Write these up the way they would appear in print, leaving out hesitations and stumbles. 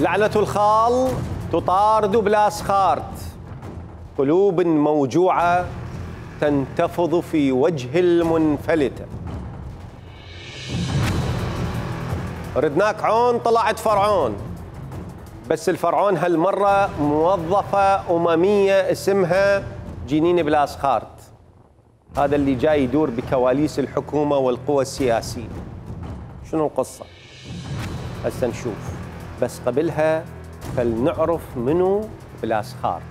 لعنة الخال تطارد بلاسخارت، قلوب موجوعة تنتفض في وجه المنفلتة. ردناك عون طلعت فرعون، بس الفرعون هالمرة موظفة أممية اسمها جنين بلاسخارت. هذا اللي جاي يدور بكواليس الحكومة والقوى السياسية. شنو القصة؟ هسه نشوف، بس قبلها فلنعرف منو بلاسخارت.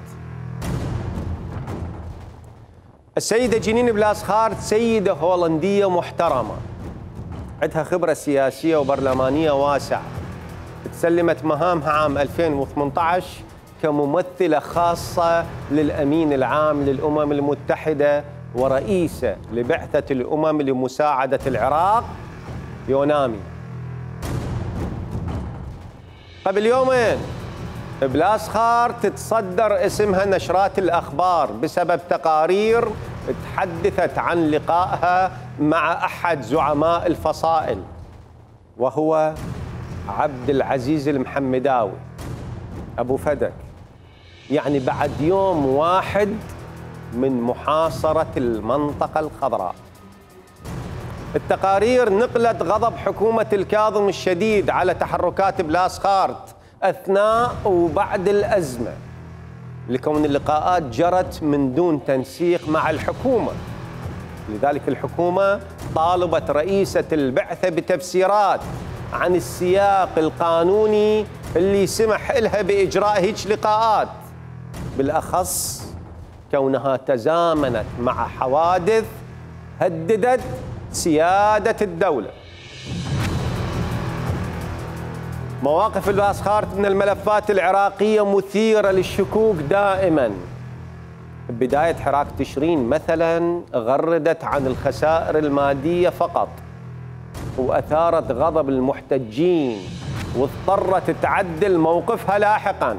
السيدة جنين بلاسخارت سيدة هولندية محترمة، عندها خبرة سياسية وبرلمانية واسعة. تسلمت مهامها عام 2018 كممثلة خاصة للأمين العام للأمم المتحدة ورئيسة لبعثة الأمم لمساعدة العراق يونامي. قبل يومين بلاسخارت تتصدر اسمها نشرات الأخبار بسبب تقارير تحدثت عن لقائها مع أحد زعماء الفصائل، وهو عبد العزيز المحمداوي أبو فدك، يعني بعد يوم واحد من محاصرة المنطقة الخضراء. التقارير نقلت غضب حكومة الكاظم الشديد على تحركات بلاسخارت أثناء وبعد الأزمة، لكون اللقاءات جرت من دون تنسيق مع الحكومة. لذلك الحكومة طالبت رئيسة البعثة بتفسيرات عن السياق القانوني اللي سمح لها بإجراء هيج لقاءات، بالأخص كونها تزامنت مع حوادث هددت سيادة الدولة. مواقف بلاسخارت من الملفات العراقية مثيرة للشكوك دائما. بداية حراك تشرين مثلا غردت عن الخسائر المادية فقط، وأثارت غضب المحتجين واضطرت تعدل موقفها لاحقا.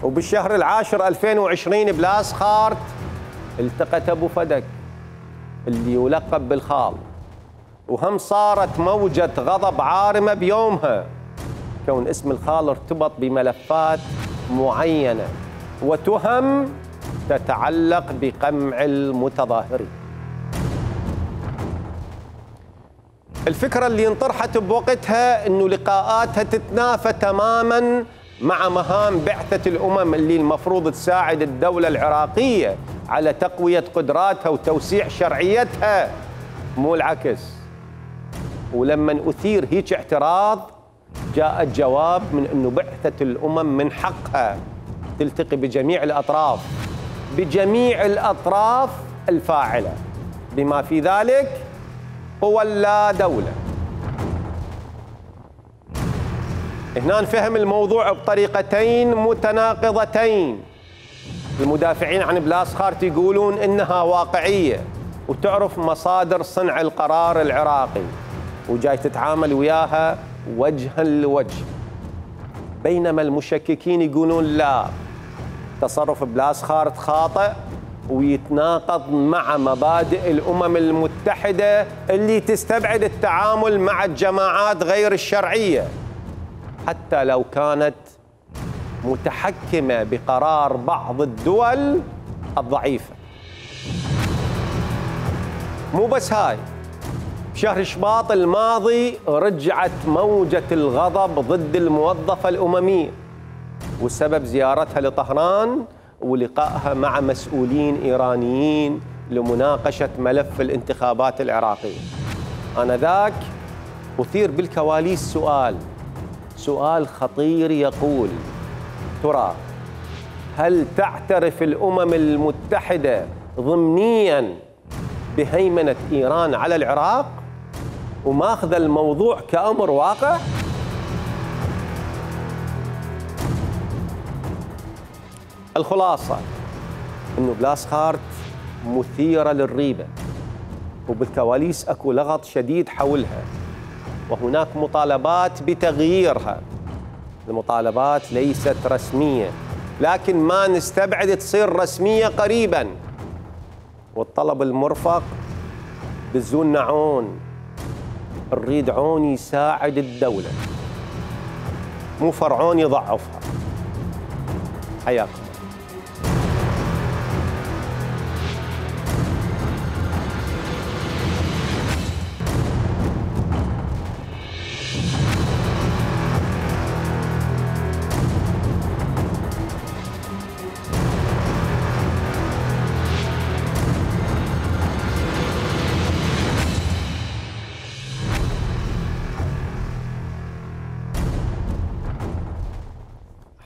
وبالشهر العاشر 2020 بلاسخارت التقت أبو فدك اللي يلقب بالخال، وهم صارت موجة غضب عارمة بيومها، كون اسم الخال ارتبط بملفات معينة وتهم تتعلق بقمع المتظاهرين. الفكرة اللي انطرحت بوقتها انه لقاءاتها تتنافى تماما مع مهام بعثة الأمم اللي المفروض تساعد الدولة العراقية على تقوية قدراتها وتوسيع شرعيتها، مو العكس. ولما أثير هيك اعتراض جاء الجواب من أنه بعثة الأمم من حقها تلتقي بجميع الأطراف الفاعلة، بما في ذلك قوى لا دولة. هنا نفهم الموضوع بطريقتين متناقضتين. المدافعين عن بلاسخارت يقولون إنها واقعية وتعرف مصادر صنع القرار العراقي وجاي تتعامل وياها وجها لوجه، بينما المشككين يقولون لا، تصرف بلاسخارت خاطئ ويتناقض مع مبادئ الأمم المتحدة اللي تستبعد التعامل مع الجماعات غير الشرعية حتى لو كانت متحكمة بقرار بعض الدول الضعيفة. مو بس هاي، بشهر شباط الماضي رجعت موجة الغضب ضد الموظفة الأممية، والسبب زيارتها لطهران ولقائها مع مسؤولين إيرانيين لمناقشة ملف الانتخابات العراقية. آنذاك أثير بالكواليس سؤال خطير يقول: ترى هل تعترف الأمم المتحدة ضمنياً بهيمنة إيران على العراق وماخذ الموضوع كأمر واقع؟ الخلاصة إنه بلاسخارت مثيرة للريبة، وبالكواليس أكو لغط شديد حولها، وهناك مطالبات بتغييرها. المطالبات ليست رسمية، لكن ما نستبعد تصير رسمية قريباً. والطلب المرفق بزولنا عون، نريد عون يساعد الدولة. مو فرعون يضعفها. حياكم.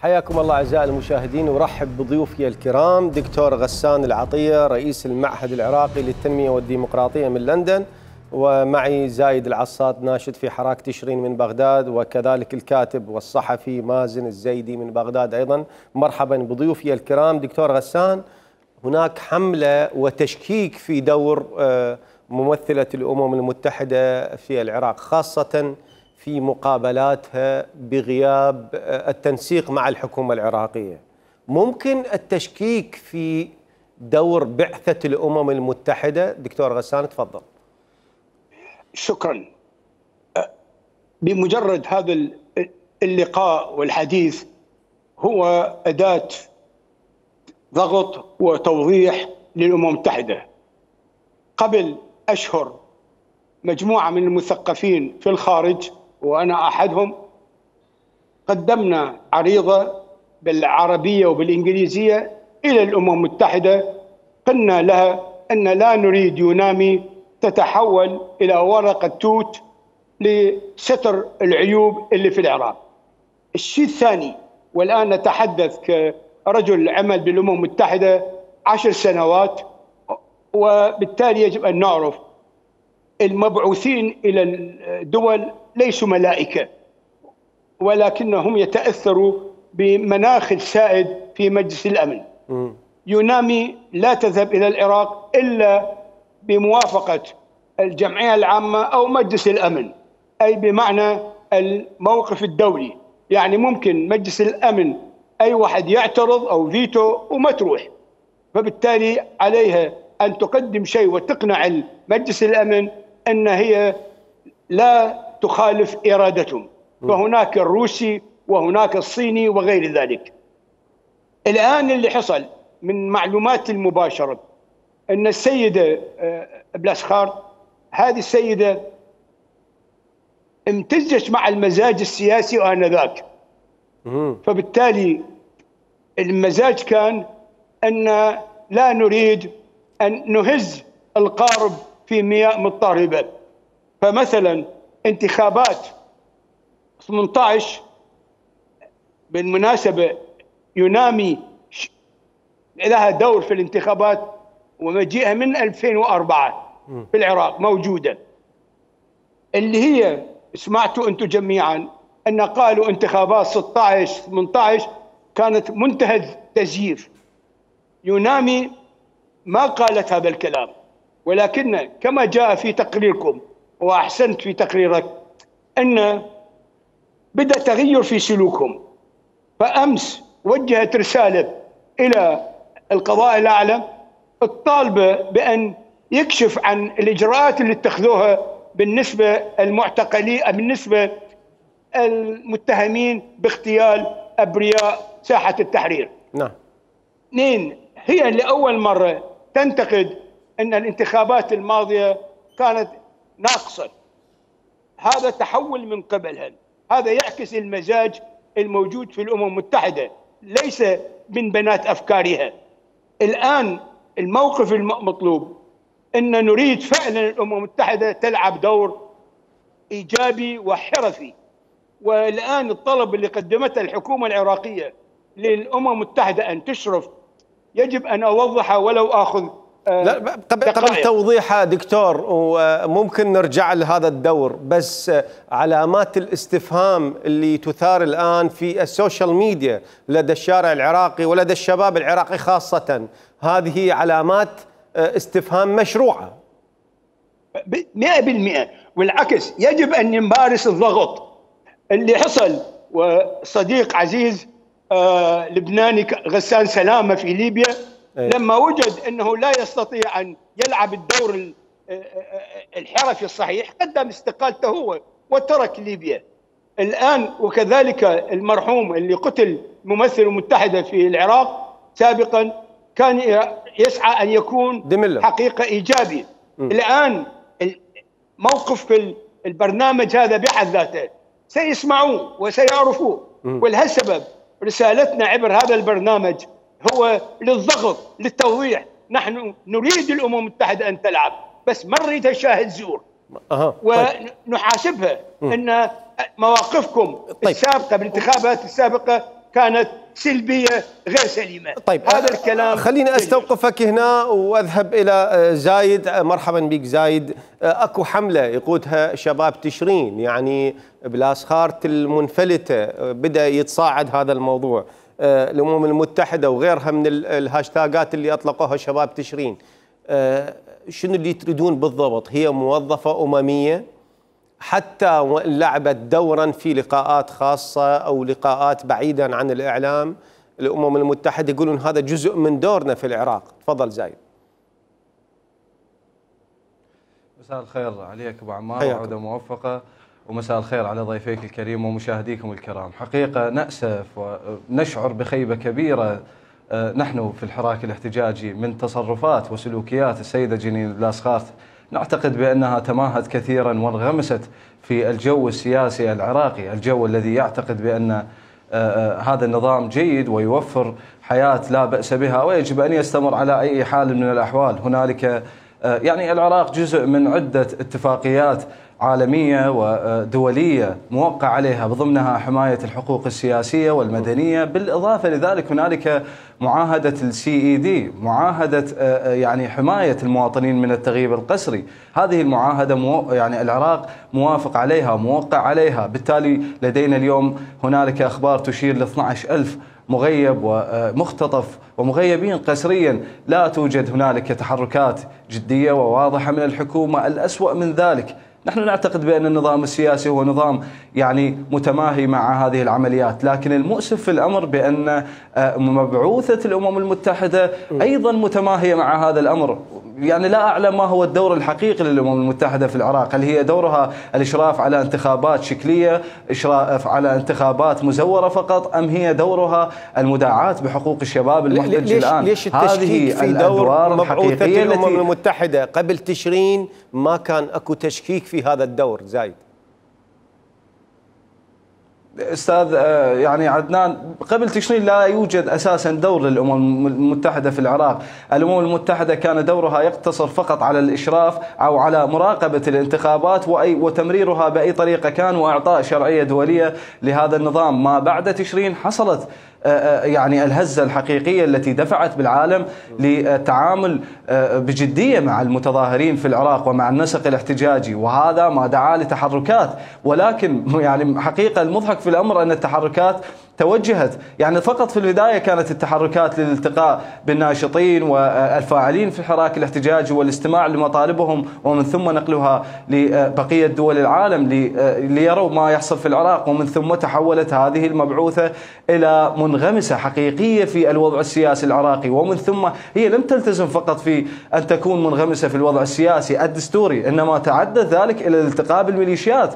حياكم الله أعزائي المشاهدين، ورحب بضيوفي الكرام دكتور غسان العطية رئيس المعهد العراقي للتنمية والديمقراطية من لندن، ومعي زايد العصاد ناشط في حراك تشرين من بغداد، وكذلك الكاتب والصحفي مازن الزيدي من بغداد أيضا. مرحبا بضيوفي الكرام. دكتور غسان، هناك حملة وتشكيك في دور ممثلة الأمم المتحدة في العراق، خاصة في مقابلاتها بغياب التنسيق مع الحكومة العراقية. ممكن التشكيك في دور بعثة الأمم المتحدة؟ دكتور غسان تفضل. شكرا. بمجرد هذا اللقاء والحديث هو أداة ضغط وتوضيح للأمم المتحدة. قبل أشهر مجموعة من المثقفين في الخارج وأنا أحدهم قدمنا عريضة بالعربية وبالإنجليزية إلى الأمم المتحدة، قلنا لها أن لا نريد يونامي تتحول إلى ورقة توت لستر العيوب اللي في العراق. الشيء الثاني، والآن نتحدث كرجل عمل بالأمم المتحدة 10 سنوات، وبالتالي يجب أن نعرف المبعوثين إلى الدول ليسوا ملائكة، ولكنهم يتأثروا بمناخ السائد في مجلس الأمن. يونامي لا تذهب إلى العراق إلا بموافقة الجمعية العامة أو مجلس الأمن، أي بمعنى الموقف الدولي. يعني ممكن مجلس الأمن أي واحد يعترض أو فيتو وما تروح، فبالتالي عليها أن تقدم شيء وتقنع مجلس الأمن أن هي لا تخالف إرادتهم. فهناك الروسي وهناك الصيني وغير ذلك. الآن اللي حصل من معلومات المباشرة أن السيدة بلاسخار هذه السيدة امتزجت مع المزاج السياسي آنذاك، فبالتالي المزاج كان أن لا نريد أن نهز القارب في مياه مضطربة. فمثلا انتخابات 18 بالمناسبة يونامي لها دور في الانتخابات ومجيئها من 2004 في العراق موجودة، اللي هي سمعتوا أنتم جميعا أن قالوا انتخابات 16 18 كانت منتهى التزييف. يونامي ما قالت هذا الكلام، ولكن كما جاء في تقريركم وأحسنت في تقريرك أن بدأ تغير في سلوكهم. فأمس وجهت رسالة إلى القضاء الأعلى الطالبة بأن يكشف عن الإجراءات اللي اتخذوها بالنسبة المعتقلين، بالنسبة المتهمين باغتيال أبرياء ساحة التحرير. نعم. اثنين، هي لأول مرة تنتقد أن الانتخابات الماضية كانت ناقصة. هذا تحول من قبلها، هذا يعكس المزاج الموجود في الأمم المتحدة، ليس من بنات أفكارها. الآن الموقف المطلوب أن نريد فعلا الأمم المتحدة تلعب دور إيجابي وحرفي. والآن الطلب اللي قدمته الحكومة العراقية للأمم المتحدة أن تشرف يجب أن أوضحها ولو أخذ لا قبل توضيحها دكتور، وممكن نرجع لهذا الدور، بس علامات الاستفهام اللي تثار الآن في السوشيال ميديا لدى الشارع العراقي ولدى الشباب العراقي خاصة، هذه علامات استفهام مشروعة 100%. والعكس يجب أن نمارس الضغط اللي حصل. وصديق عزيز لبناني غسان سلامة في ليبيا لما وجد أنه لا يستطيع أن يلعب الدور الحرفي الصحيح قدم استقالته هو وترك ليبيا. الآن وكذلك المرحوم اللي قتل ممثل المتحدة في العراق سابقا كان يسعى أن يكون دملة. حقيقة إيجابي. الآن موقف البرنامج هذا بحد ذاته سيسمعوه وسيعرفوه، ولهالسبب رسالتنا عبر هذا البرنامج هو للضغط للتوضيح. نحن نريد الأمم المتحدة أن تلعب، بس ما نريدها شاهد زور. ونحاسبها أن مواقفكم السابقة بالانتخابات السابقة كانت سلبية غير سليمة. طيب هذا الكلام خليني استوقفك هنا واذهب الى زايد. مرحبا بك زايد. اكو حملة يقودها شباب تشرين، يعني بلاسخارت المنفلتة بدا يتصاعد هذا الموضوع. الامم المتحدة وغيرها من الهاشتاجات اللي اطلقوها شباب تشرين. شنو اللي تريدون بالضبط؟ هي موظفة أممية حتى لعبت دورا في لقاءات خاصة أو لقاءات بعيدا عن الإعلام. الأمم المتحدة يقولون هذا جزء من دورنا في العراق. تفضل زايد. مساء الخير عليك أبو عمار، وعودة موفقة، ومساء الخير على ضيفيك الكريم ومشاهديكم الكرام. حقيقة نأسف ونشعر بخيبة كبيرة نحن في الحراك الاحتجاجي من تصرفات وسلوكيات السيدة جنين بلاسخارت. نعتقد بأنها تماهت كثيرا وانغمست في الجو السياسي العراقي، الجو الذي يعتقد بأن هذا النظام جيد ويوفر حياة لا بأس بها ويجب أن يستمر على أي حال من الأحوال. هنالك يعني العراق جزء من عدة اتفاقيات عالمية ودولية موقع عليها، بضمنها حماية الحقوق السياسية والمدنية. بالإضافة لذلك هنالك معاهدة الCED، معاهدة يعني حماية المواطنين من التغييب القسري. هذه المعاهدة يعني العراق موافق عليها وموقع عليها. بالتالي لدينا اليوم هنالك أخبار تشير ل 12,000 مغيب ومختطف ومغيبين قسريا. لا توجد هنالك تحركات جدية وواضحة من الحكومة. الأسوأ من ذلك نحن نعتقد بأن النظام السياسي هو نظام يعني متماهي مع هذه العمليات، لكن المؤسف في الأمر بأن مبعوثة الأمم المتحدة أيضا متماهية مع هذا الأمر. يعني لا أعلم ما هو الدور الحقيقي للأمم المتحدة في العراق. هل هي دورها الإشراف على انتخابات شكلية، إشراف على انتخابات مزورة فقط، أم هي دورها المداعاة بحقوق الشباب المحتج الآن؟ ليش التشكيك في دور مبعوثة الأمم المتحدة؟ قبل تشرين ما كان أكو تشكيك في هذا الدور زايد. استاذ يعني عدنان، قبل تشرين لا يوجد اساسا دور للامم المتحده في العراق. الامم المتحده كان دورها يقتصر فقط على الاشراف او على مراقبه الانتخابات وتمريرها باي طريقه كان، واعطاء شرعيه دوليه لهذا النظام. ما بعد تشرين حصلت يعني الهزة الحقيقية التي دفعت بالعالم للتعامل بجدية مع المتظاهرين في العراق ومع النسق الاحتجاجي، وهذا ما دعا لتحركات. ولكن يعني حقيقة المضحك في الأمر أن التحركات توجهت يعني فقط في البداية كانت التحركات للالتقاء بالناشطين والفاعلين في الحراك الاحتجاجي والاستماع لمطالبهم، ومن ثم نقلها لبقية دول العالم ليروا ما يحصل في العراق. ومن ثم تحولت هذه المبعوثة إلى منغمسة حقيقية في الوضع السياسي العراقي، ومن ثم هي لم تلتزم فقط في أن تكون منغمسة في الوضع السياسي الدستوري، إنما تعدى ذلك إلى الالتقاء بالميليشيات.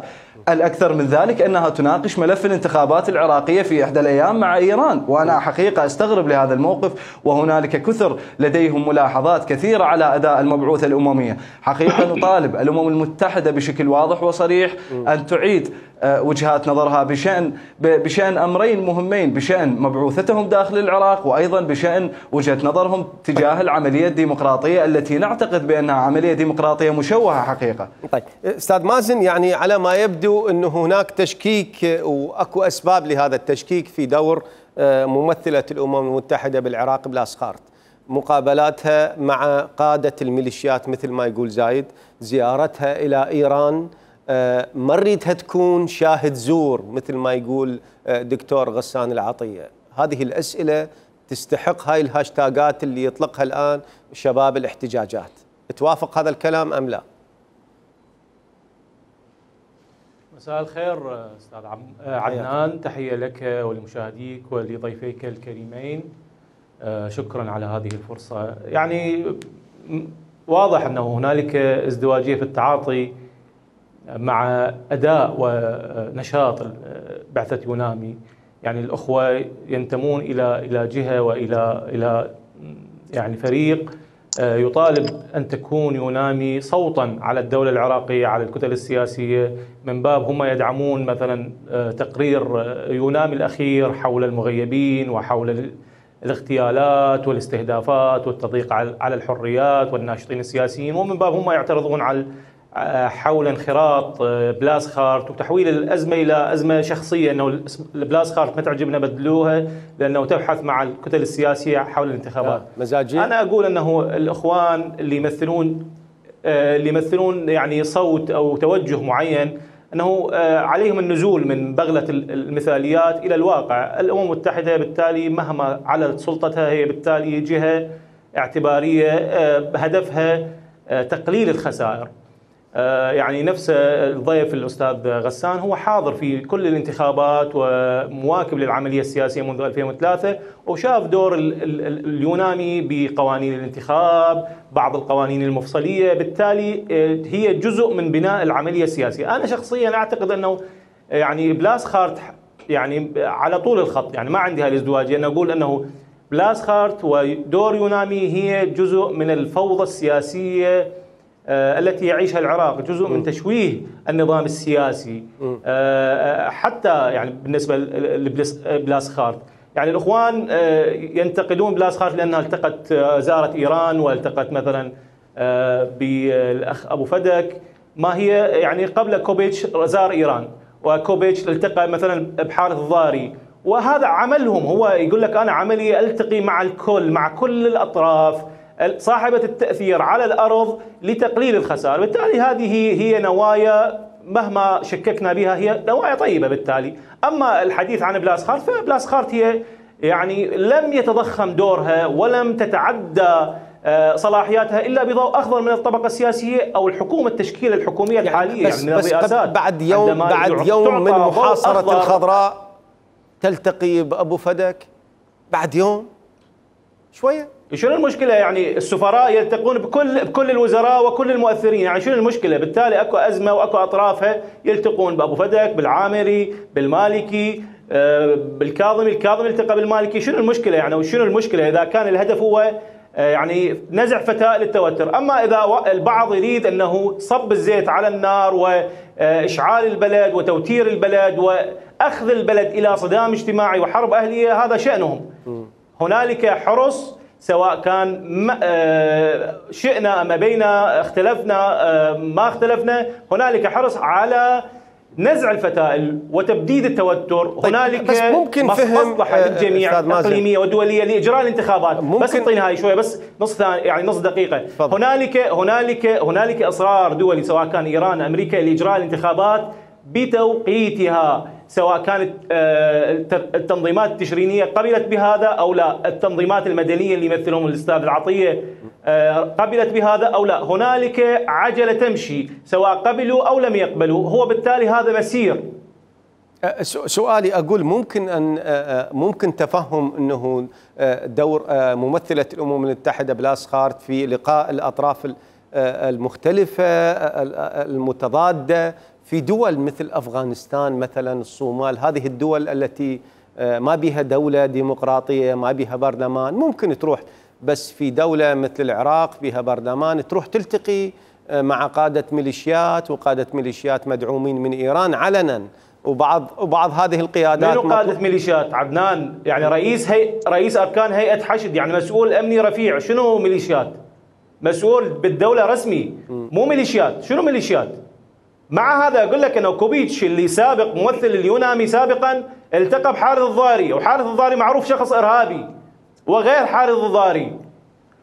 الأكثر من ذلك أنها تناقش ملف الانتخابات العراقية في إحدى الأيام مع إيران، وأنا حقيقة أستغرب لهذا الموقف. وهنالك كثر لديهم ملاحظات كثيرة على أداء المبعوثة الأممية. حقيقة نطالب الأمم المتحدة بشكل واضح وصريح أن تعيد وجهات نظرها بشأن أمرين مهمين، بشأن مبعوثتهم داخل العراق، وأيضا بشأن وجهة نظرهم تجاه العملية الديمقراطية التي نعتقد بأنها عملية ديمقراطية مشوهة حقيقة. طيب أستاذ مازن، يعني على ما يبدو أنه هناك تشكيك وأكو أسباب لهذا التشكيك في دور ممثلة الأمم المتحدة بالعراق بلاسخارت، مقابلاتها مع قادة الميليشيات مثل ما يقول زايد، زيارتها إلى إيران، ما نريدها تكون شاهد زور مثل ما يقول دكتور غسان العطية. هذه الأسئلة تستحق هاي الهاشتاجات اللي يطلقها الآن شباب الاحتجاجات. توافق هذا الكلام أم لا؟ مساء الخير أستاذ عدنان، تحية لك ولمشاهديك ولضيفيك الكريمين. شكرا على هذه الفرصة. يعني واضح أنه هنالك ازدواجية في التعاطي مع أداء ونشاط بعثة يونامي، يعني الأخوة ينتمون إلى جهة وإلى يعني فريق يطالب أن تكون يونامي صوتا على الدولة العراقية، على الكتل السياسية، من باب هم يدعمون مثلا تقرير يونامي الأخير حول المغيبين وحول الاغتيالات والاستهدافات والتضييق على الحريات والناشطين السياسيين، ومن باب هم يعترضون على حول انخراط بلاسخارت وتحويل الأزمة إلى أزمة شخصية، أنه بلاسخارت ما تعجبنا بدلوها لأنه تبحث مع الكتل السياسية حول الانتخابات مزاجية. أنا أقول أنه الإخوان اللي يمثلون يعني صوت أو توجه معين، أنه عليهم النزول من بغلة المثاليات إلى الواقع. الأمم المتحدة بالتالي مهما علت سلطتها هي بالتالي جهة اعتبارية هدفها تقليل الخسائر. يعني نفس الضيف الأستاذ غسان هو حاضر في كل الانتخابات ومواكب للعملية السياسية منذ 2003 وشاف دور اليونامي بقوانين الانتخاب، بعض القوانين المفصلية، بالتالي هي جزء من بناء العملية السياسية. أنا شخصيا أعتقد أنه يعني بلاسخارت يعني على طول الخط، يعني ما عندي هالازدواجية أن أقول أنه بلاسخارت ودور يونامي هي جزء من الفوضى السياسية التي يعيشها العراق، جزء من تشويه النظام السياسي. حتى يعني بالنسبة لبلاسخارت، يعني الإخوان ينتقدون بلاسخارت لأنها التقت زارت إيران والتقت مثلا بالأخ أبو فدك، ما هي يعني قبل كوبيتش زار إيران، وكوبيتش التقى مثلا بحارث الضاري، وهذا عملهم. هو يقول لك أنا عملي ألتقي مع الكل، مع كل الأطراف صاحبة التأثير على الأرض لتقليل الخسائر. بالتالي هذه هي نوايا مهما شككنا بها هي نوايا طيبة. بالتالي أما الحديث عن بلاسخارت، فبلاسخارت هي يعني لم يتضخم دورها ولم تتعدى صلاحياتها إلا بضوء أخضر من الطبقة السياسية أو الحكومة، التشكيل الحكومية الحالية، يعني من الرئاسات. بعد يوم من محاصرة الخضراء تلتقي بأبو فدك بعد يوم شوية. شنو المشكلة؟ يعني السفراء يلتقون بكل الوزراء وكل المؤثرين، يعني شنو المشكلة؟ بالتالي اكو أزمة واكو أطرافها يلتقون بأبو فدك، بالعامري، بالمالكي، بالكاظمي، الكاظمي التقى بالمالكي. شنو المشكلة يعني؟ وشنو المشكلة إذا كان الهدف هو يعني نزع فتاة للتوتر؟ أما إذا البعض يريد أنه صب الزيت على النار وإشعال البلد وتوتير البلد وأخذ البلد إلى صدام اجتماعي وحرب أهلية، هذا شأنهم. هنالك حرص، سواء كان شئنا أم بينا، اختلفنا ما اختلفنا، هنالك حرص على نزع الفتائل وتبديد التوتر. هنالك بس ممكن مصلحة للجميع إقليمية ودولية لإجراء الانتخابات. بس اعطينا هاي شوية، بس نص دقيقة. هنالك إصرار دولي سواء كان إيران أمريكا لإجراء الانتخابات بتوقيتها، سواء كانت التنظيمات التشرينية قبلت بهذا أو لا، التنظيمات المدنية اللي يمثلهم الأستاذ العطية قبلت بهذا أو لا. هنالك عجلة تمشي سواء قبلوا أو لم يقبلوا، هو بالتالي هذا مسير. سؤالي أقول ممكن تفهم أنه دور ممثلة الأمم المتحدة بلاسخارت في لقاء الأطراف المختلفة المتضادة في دول مثل أفغانستان مثلا، الصومال، هذه الدول التي ما بها دولة ديمقراطية، ما بها برلمان، ممكن تروح بس في دولة مثل العراق بها برلمان تروح تلتقي مع قادة ميليشيات وقادة ميليشيات مدعومين من إيران علنا، وبعض هذه القيادات. منو قادة ميليشيات عدنان؟ يعني رئيس أركان هيئة حشد، يعني مسؤول أمني رفيع. شنو ميليشيات؟ مسؤول بالدولة رسمي، مو ميليشيات. شنو ميليشيات؟ مع هذا أقول لك أنه كوبيتش اللي سابق ممثل اليونامي سابقا التقى بحارث الضاري، وحارث الضاري معروف شخص إرهابي، وغير حارث الضاري.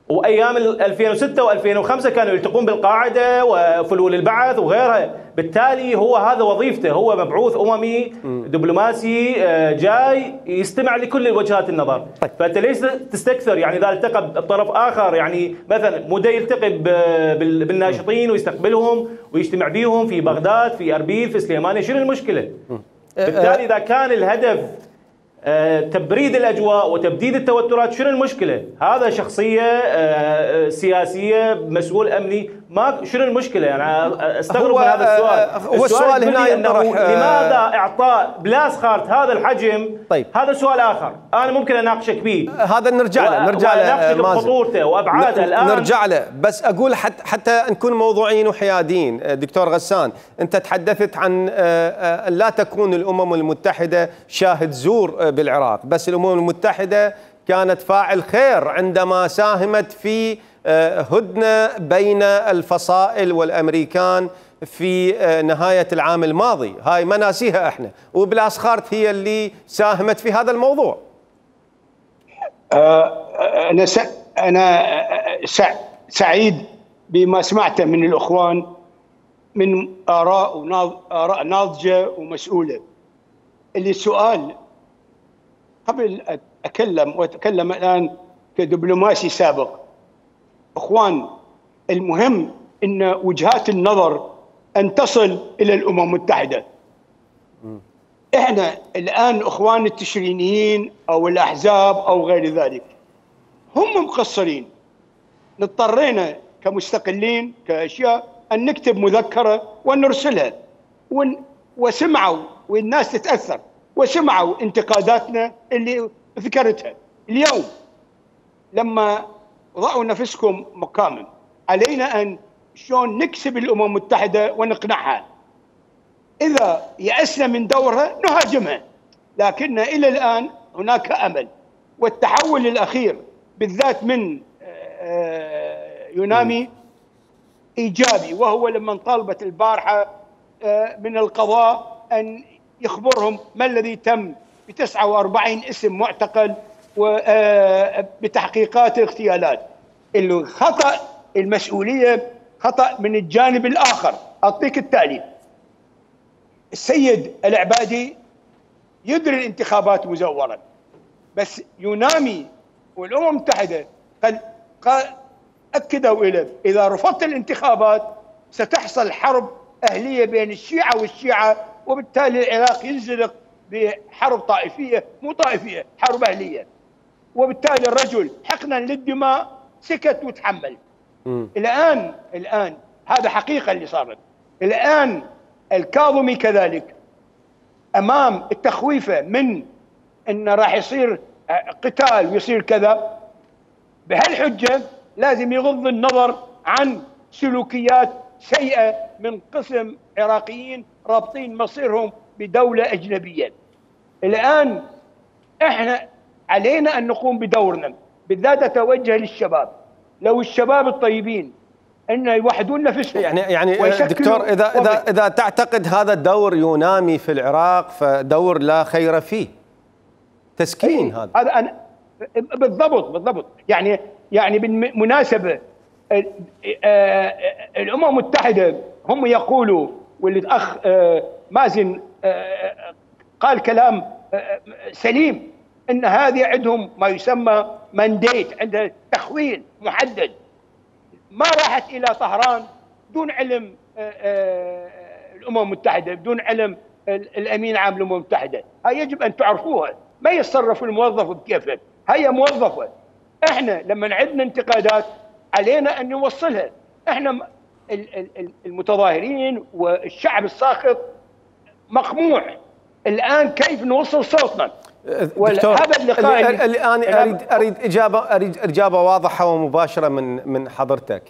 وأيام 2006 و2005 كانوا يلتقون بالقاعدة وفلول البعث وغيرها. بالتالي هو هذا وظيفته، هو مبعوث أممي دبلوماسي جاي يستمع لكل وجهات النظر. فأنت ليش تستكثر؟ يعني إذا التقى بطرف آخر، يعني مثلا مو يلتقي بالناشطين ويستقبلهم ويجتمع بيهم في بغداد، في أربيل، في سليمانية، شنو المشكلة؟ بالتالي إذا كان الهدف تبريد الأجواء وتبديد التوترات، شنو المشكلة؟ هذا شخصية سياسية، مسؤول أمني، ما شنو المشكله؟ يعني استغرب من هذا السؤال. هو السؤال هنا ينطرح لماذا اعطاء بلاسخارت هذا الحجم؟ طيب هذا سؤال اخر انا ممكن اناقشك به، هذا نرجع له اناقشك بخطورته وابعاده. الان نرجع له، بس اقول حتى نكون موضوعيين وحياديين. دكتور غسان، انت تحدثت عن لا تكون الامم المتحده شاهد زور بالعراق، بس الامم المتحده كانت فاعل خير عندما ساهمت في هدنة بين الفصائل والأمريكان في نهاية العام الماضي. هاي ما ناسيها احنا، وبلاسخارت هي اللي ساهمت في هذا الموضوع. أنا سعيد بما سمعته من الأخوان من آراء ناضجة ومسؤولة. اللي سؤال قبل وأتكلم الآن كدبلوماسي سابق. اخوان، المهم ان وجهات النظر ان تصل الى الامم المتحده. احنا الان اخوان التشرينيين او الاحزاب او غير ذلك هم مقصرين. اضطرينا كمستقلين كاشياء ان نكتب مذكره ونرسلها، وسمعوا والناس تتاثر وسمعوا انتقاداتنا اللي ذكرتها. اليوم لما ضعوا نفسكم مقاما، علينا أن شلون نكسب الأمم المتحدة ونقنعها. إذا يأسنا من دورها نهاجمها، لكن إلى الآن هناك أمل. والتحول الأخير بالذات من يونامي إيجابي، وهو لما طالبت البارحة من القضاء أن يخبرهم ما الذي تم ب 49 اسم معتقل وبتحقيقات اغتيالات. الخطأ المسؤولية خطأ من الجانب الآخر. أعطيك التالي: السيد العبادي يدري الانتخابات مزورة، بس يونامي والأمم المتحدة أكدوا إليه إذا رفضت الانتخابات ستحصل حرب أهلية بين الشيعة والشيعة، وبالتالي العراق ينزلق بحرب طائفية، مو طائفية، حرب أهلية. وبالتالي الرجل حقنا للدماء سكت وتحمل. الآن هذا حقيقة اللي صارت. الآن الكاظمي كذلك أمام التخويفة من أن راح يصير قتال ويصير كذا، بهالحجة لازم يغض النظر عن سلوكيات سيئة من قسم عراقيين رابطين مصيرهم بدولة أجنبية. الآن احنا علينا أن نقوم بدورنا، بالذات أتوجه للشباب. لو الشباب الطيبين أن يوحدون نفسهم يعني دكتور، إذا تعتقد هذا الدور يونامي في العراق فدور لا خير فيه، تسكين. هذا أنا بالضبط. يعني بالمناسبة الأمم المتحدة هم يقولوا، واللي الأخ مازن قال كلام سليم، ان هذه عندهم ما يسمى مانديت، عندها تخوين محدد. ما راحت الى طهران دون علم الامم المتحده، بدون علم الامين العام للامم المتحده. هاي يجب ان تعرفوها. ما يتصرف الموظف بكيفه، هي موظفه. احنا لما عندنا انتقادات علينا ان نوصلها. احنا المتظاهرين والشعب الساخط مقموع. الان كيف نوصل صوتنا؟ دكتور، الآن أريد إجابة واضحة ومباشرة من حضرتك.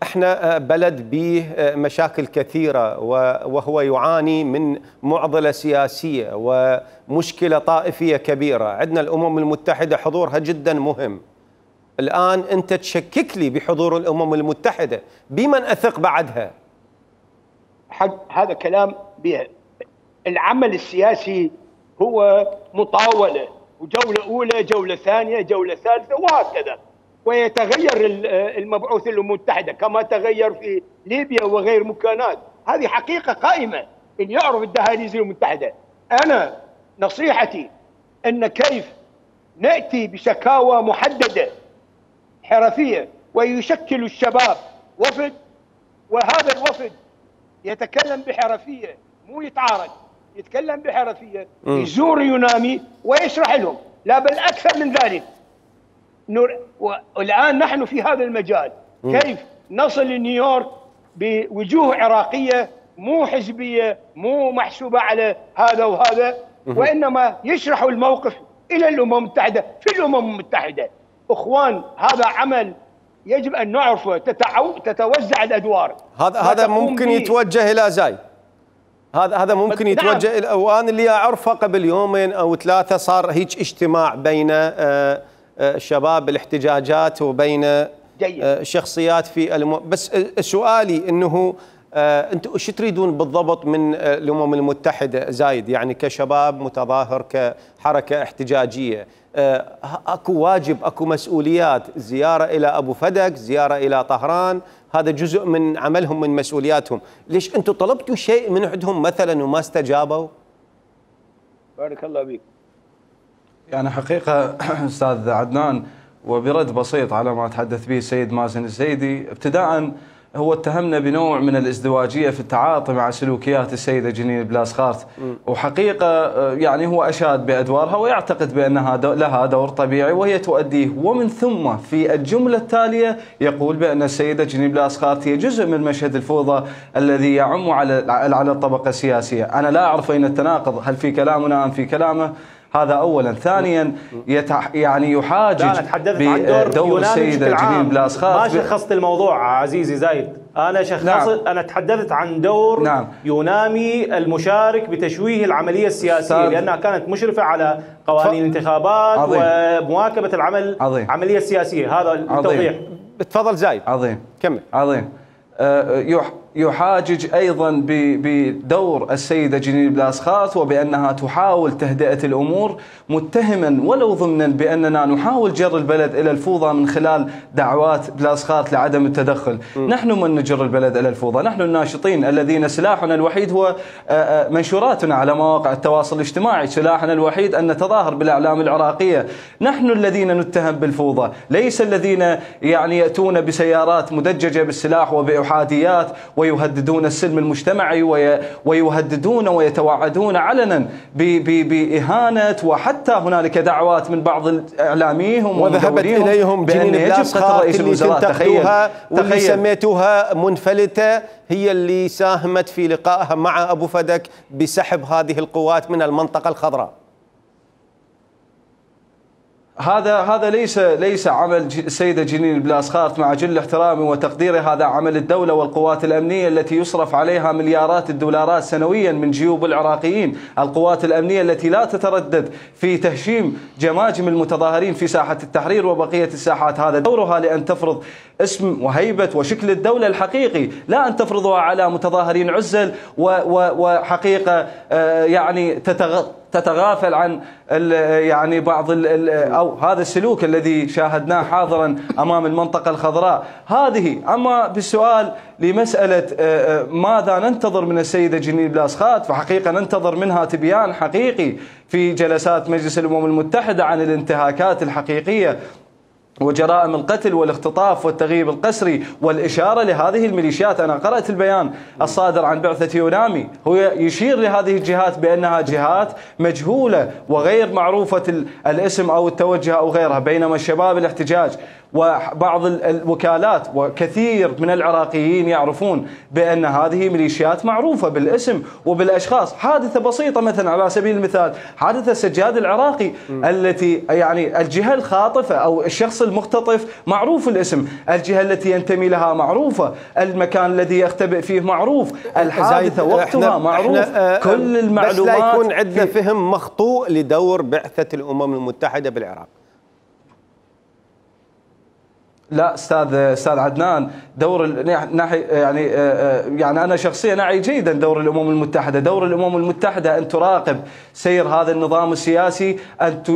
احنا بلد به مشاكل كثيرة، وهو يعاني من معضلة سياسية ومشكلة طائفية كبيرة. عندنا الأمم المتحدة حضورها جدا مهم. الآن أنت تشكك لي بحضور الأمم المتحدة، بمن أثق بعدها؟ هذا كلام به. العمل السياسي هو مطاولة، وجولة أولى، جولة ثانية، جولة ثالثة، وهكذا. ويتغير المبعوث الأمم المتحدة كما تغير في ليبيا وغير مكانات. هذه حقيقة قائمة. اللي يعرف الدهاليز الأمم المتحدة. أنا نصيحتي أن كيف نأتي بشكاوى محددة حرفية، ويشكل الشباب وفد، وهذا الوفد يتكلم بحرفية، مو يتعارض، يتكلم بحرفية، يزور يونامي ويشرح لهم. لا بل أكثر من ذلك. والآن نحن في هذا المجال كيف نصل لنيويورك بوجوه عراقيه مو حزبيه، مو محسوبه على هذا وهذا، وانما يشرحوا الموقف الى الامم المتحده في الامم المتحده. اخوان، هذا عمل يجب ان نعرفه، تتوزع الادوار. هذا ممكن يتوجه الى زايد، هذا ممكن يتوجه الى، وانا اللي اعرفه قبل يومين او ثلاثه صار هيك اجتماع بين شباب الاحتجاجات وبين شخصيات في بس سؤالي انه انتم ايش تريدون بالضبط من الامم المتحده زايد؟ يعني كشباب متظاهر كحركه احتجاجيه، اكو واجب، اكو مسؤوليات، زياره الى ابو فدك، زياره الى طهران، هذا جزء من عملهم، من مسؤولياتهم. ليش انتم طلبتوا شيء من عندهم مثلا وما استجابوا؟ بارك الله بك. يعني حقيقه استاذ عدنان، وبرد بسيط على ما تحدث به السيد مازن الزيدي، ابتداء هو اتهمنا بنوع من الازدواجية في التعاطي مع سلوكيات السيدة جنين بلاسخارت، وحقيقة يعني هو أشاد بأدوارها ويعتقد بأنها لها دور طبيعي وهي تؤديه، ومن ثم في الجملة التالية يقول بأن السيدة جنين بلاسخارت هي جزء من مشهد الفوضى الذي يعم على الطبقة السياسية. أنا لا أعرف أين التناقض، هل في كلامنا أم في كلامه؟ هذا اولا. ثانيا يعني يحاجج بدور السيده جنين بلاسخارت. ما شخصت الموضوع عزيزي زايد، انا انا تحدثت عن دور يونامي المشارك بتشويه العمليه السياسيه، لانها كانت مشرفه على قوانين الانتخابات ومواكبه العمليه السياسيه. هذا التوضيح. تفضل زايد. عظيم. كمل. عظيم. يحاجج أيضا بدور السيدة جنين بلاسخارت وبأنها تحاول تهدئة الأمور، متهما ولو ضمنا بأننا نحاول جر البلد إلى الفوضى من خلال دعوات بلاسخارت لعدم التدخل. نحن من نجر البلد إلى الفوضى، نحن الناشطين الذين سلاحنا الوحيد هو منشوراتنا على مواقع التواصل الاجتماعي، سلاحنا الوحيد أن نتظاهر بالأعلام العراقية. نحن الذين نتهم بالفوضى، ليس الذين يعني يأتون بسيارات مدججة بالسلاح وبأحاديات ويهددون السلم المجتمعي ويهددون ويتوعدون علنا بإهانة، وحتى هنالك دعوات من بعض إعلاميهم وذهبت إليهم جنين بلاسخارت اللي تنتقدوها واللي سميتوها منفلتة، هي اللي ساهمت في لقائها مع أبو فدك بسحب هذه القوات من المنطقة الخضراء. هذا ليس عمل السيدة جنين بلاسخارت، مع جل احترامي وتقديري، هذا عمل الدولة والقوات الأمنية التي يصرف عليها مليارات الدولارات سنويا من جيوب العراقيين، القوات الأمنية التي لا تتردد في تهشيم جماجم المتظاهرين في ساحة التحرير وبقية الساحات. هذا دورها لأن تفرض اسم وهيبة وشكل الدولة الحقيقي، لا أن تفرضها على متظاهرين عزل وحقيقة يعني تتغافل عن يعني بعض أو هذا السلوك الذي شاهدناه حاضرا أمام المنطقة الخضراء هذه. أما بالسؤال لمسألة ماذا ننتظر من السيدة جنين بلاسخارت، فحقيقة ننتظر منها تبيان حقيقي في جلسات مجلس الأمم المتحدة عن الانتهاكات الحقيقية وجرائم القتل والاختطاف والتغييب القسري، والإشارة لهذه الميليشيات. أنا قرأت البيان الصادر عن بعثة يونامي، هو يشير لهذه الجهات بأنها جهات مجهولة وغير معروفة الاسم أو التوجه أو غيرها، بينما الشباب الاحتجاج وبعض الوكالات وكثير من العراقيين يعرفون بأن هذه ميليشيات معروفة بالاسم وبالأشخاص. حادثة بسيطة مثلا على سبيل المثال حادثة السجاد العراقي، التي يعني الجهة الخاطفة أو الشخص المختطف معروف الاسم، الجهة التي ينتمي لها معروفة، المكان الذي يختبئ فيه معروف، الحادثة وقتها معروف، كل المعلومات. بس لا يكون عندنا فهم مخطوء لدور بعثة الأمم المتحدة بالعراق. لا استاذ عدنان، دور يعني انا شخصيا اعي جيدا دور الامم المتحده، دور الامم المتحده ان تراقب سير هذا النظام السياسي،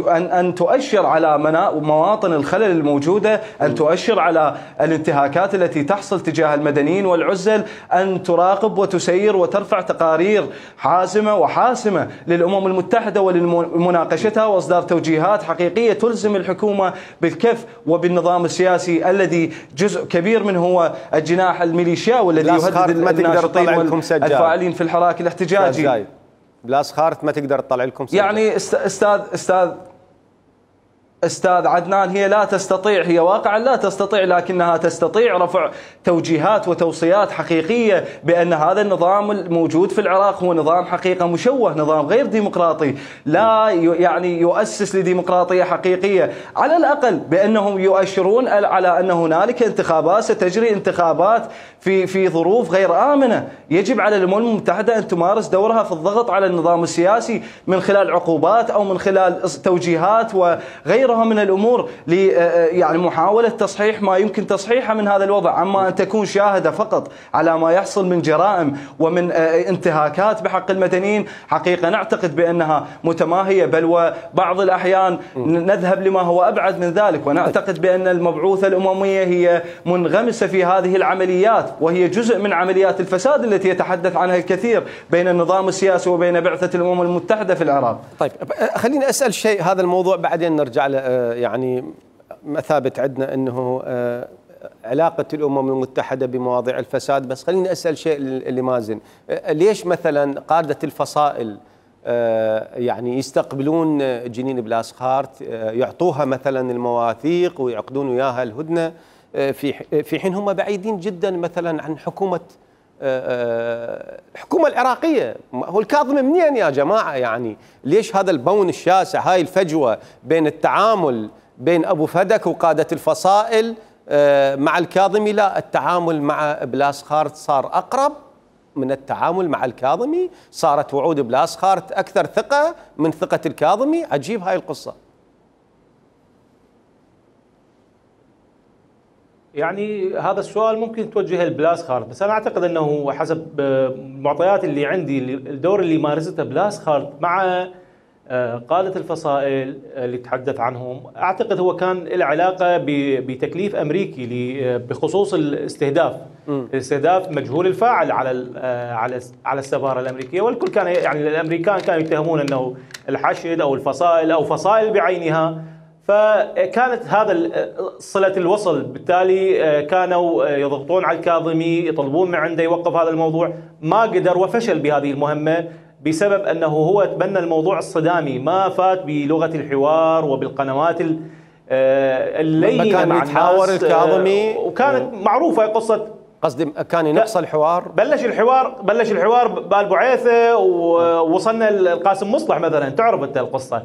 ان تؤشر على مواطن الخلل الموجوده، ان تؤشر على الانتهاكات التي تحصل تجاه المدنيين والعزل، ان تراقب وتسير وترفع تقارير حازمه وحاسمه للامم المتحده ولمناقشتها واصدار توجيهات حقيقيه تلزم الحكومه بالكف وبالنظام السياسي الذي جزء كبير منه هو الجناح الميليشياوي الذي يهدد الناشطين والفاعلين في الحراك الاحتجاجي. بلاسخارت ما تقدر تطلع لكم سجاد. يعني استاذ أستاذ عدنان هي لا تستطيع، هي واقعا لا تستطيع، لكنها تستطيع رفع توجيهات وتوصيات حقيقية بأن هذا النظام الموجود في العراق هو نظام حقيقة مشوه، نظام غير ديمقراطي، لا يعني يؤسس لديمقراطية حقيقية. على الأقل بأنهم يؤشرون على أن هنالك انتخابات ستجري، انتخابات في ظروف غير آمنة. يجب على الأمم المتحدة أن تمارس دورها في الضغط على النظام السياسي من خلال عقوبات أو من خلال توجيهات وغيرها من الأمور يعني محاولة تصحيح ما يمكن تصحيحه من هذا الوضع. أما أن تكون شاهدة فقط على ما يحصل من جرائم ومن انتهاكات بحق المدنيين، حقيقة نعتقد بأنها متماهية، بل وبعض الأحيان نذهب لما هو أبعد من ذلك، ونعتقد بأن المبعوثة الأممية هي منغمسة في هذه العمليات، وهي جزء من عمليات الفساد التي يتحدث عنها الكثير بين النظام السياسي وبين بعثة الأمم المتحدة في العراق. طيب خليني أسأل شيء، هذا الموضوع بعدين نرجع له، يعني مثابة عندنا أنه علاقة الأمم المتحدة بمواضيع الفساد، بس خليني أسأل شيء لمازن، ليش مثلا قادة الفصائل يعني يستقبلون جنين بلاسخارت، يعطوها مثلا المواثيق ويعقدون وياها الهدنة، في حين هم بعيدين جدا مثلا عن الحكومة العراقية؟ هو الكاظمي منين يا جماعة؟ يعني ليش هذا البون الشاسع، هاي الفجوة بين التعامل بين أبو فدك وقادة الفصائل مع الكاظمي؟ لا، التعامل مع بلاسخارت صار أقرب من التعامل مع الكاظمي، صارت وعود بلاسخارت أكثر ثقة من ثقة الكاظمي. عجيب هاي القصة. يعني هذا السؤال ممكن توجهه لبلاسخارت، بس أنا أعتقد أنه حسب المعطيات اللي عندي، الدور اللي مارسته بلاسخارت مع قادة الفصائل اللي تحدث عنهم، أعتقد هو كان له علاقة بتكليف أمريكي بخصوص الاستهداف مجهول الفاعل على السفارة الأمريكية. والكل كان يعني الأمريكان كانوا يتهمون أنه الحشد أو الفصائل أو فصائل بعينها، فكانت هذا صلة الوصل. بالتالي كانوا يضغطون على الكاظمي، يطلبون من عنده يوقف هذا الموضوع، ما قدر وفشل بهذه المهمة بسبب أنه هو تبنى الموضوع الصدامي، ما فات بلغة الحوار وبالقنوات اللينة مع الناس. الكاظمي وكانت معروفة قصة، قصدي كان ينقص الحوار، بلش الحوار بالبعيثة ووصلنا القاسم مصلح مثلا، تعرف انت القصة.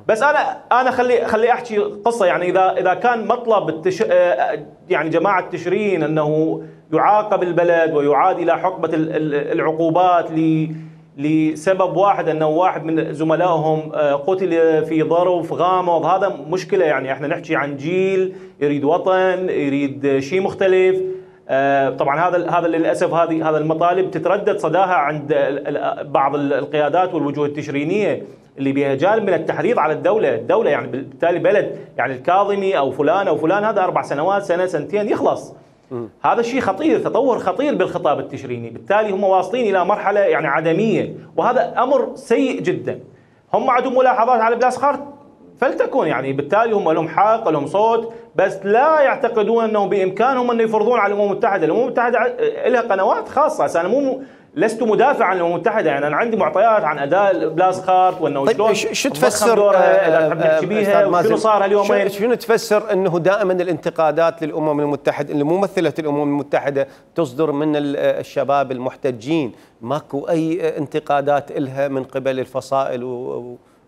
بس انا خلي احكي قصة. يعني اذا كان مطلب يعني جماعة تشرين انه يعاقب البلد ويعاد الى حقبة العقوبات لسبب واحد، انه واحد من زملائهم قتل في ظرف غامض، هذا مشكلة. يعني احنا نحكي عن جيل يريد وطن، يريد شيء مختلف. طبعا هذا للاسف هذا المطالب تتردد صداها عند بعض القيادات والوجوه التشرينيه اللي بها جانب من التحريض على الدوله. يعني بالتالي بلد يعني الكاظمي او فلان هذا 4 سنوات، سنه سنتين يخلص. هذا الشيء خطير، تطور خطير بالخطاب التشريني. بالتالي هم واصلين الى مرحله يعني عدميه، وهذا امر سيء جدا. هم عندهم ملاحظات على بلاسخارت فلتكن، يعني بالتالي هم لهم حق، لهم صوت، بس لا يعتقدون انه بامكانهم ان يفرضون على الامم المتحده. الامم المتحده لها قنوات خاصه. انا لست مدافع عن الامم المتحده، يعني انا عندي معطيات عن اداء بلاسخارت وانه طيب شلون شو تفسر شنو صار هاليومين. شنو تفسر انه دائما الانتقادات للامم المتحده، لممثله الامم المتحده، تصدر من الشباب المحتجين؟ ماكو اي انتقادات لها من قبل الفصائل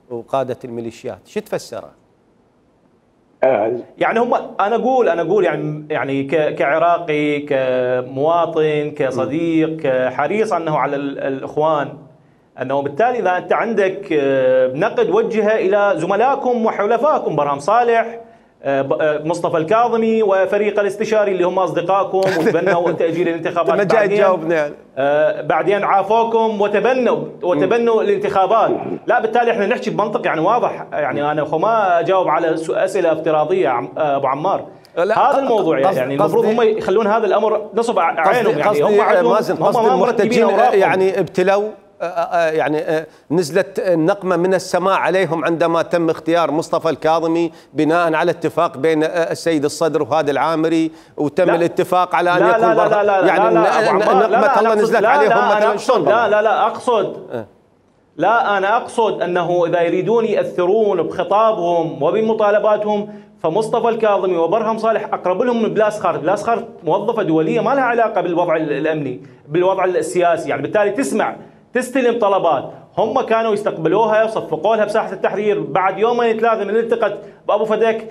وقادة الميليشيات. شو تفسره؟ يعني هم انا اقول يعني كعراقي، كمواطن، كصديق، كحريص انه على الاخوان، انه بالتالي اذا انت عندك نقد وجهه الى زملائكم وحلفائكم، برهام صالح، مصطفى الكاظمي وفريق الاستشاري اللي هم اصدقائكم، وتبنوا تاجيل الانتخابات، بعدين عافوكم وتبنوا الانتخابات. لا، بالتالي احنا نحكي بمنطق يعني واضح. يعني انا ما اجاوب على اسئله افتراضيه ابو عمار. هذا الموضوع يعني المفروض هم يخلون هذا الامر نصب عينهم. يعني هم عندهم المحتجين يعني ابتلوا، يعني نزلت نقمة من السماء عليهم عندما تم اختيار مصطفى الكاظمي بناء على اتفاق بين السيد الصدر وهذا العامري، وتم الاتفاق على ان يكون لا يعني نقمة الله نزلت عليهم مثلا. شلون؟ لا لا، أنا أقصد أنه إذا يريدون يأثرون بخطابهم وبمطالباتهم فمصطفى الكاظمي وبرهم صالح أقرب لهم من بلاس خارت. بلاس خارت موظفة دولية ما لها علاقة بالوضع الأمني، بالوضع السياسي، يعني بالتالي تسمع تستلم طلبات. هم كانوا يستقبلوها وصفقوا لها بساحة التحرير. بعد يومين ثلاثة من التقت بأبو فدك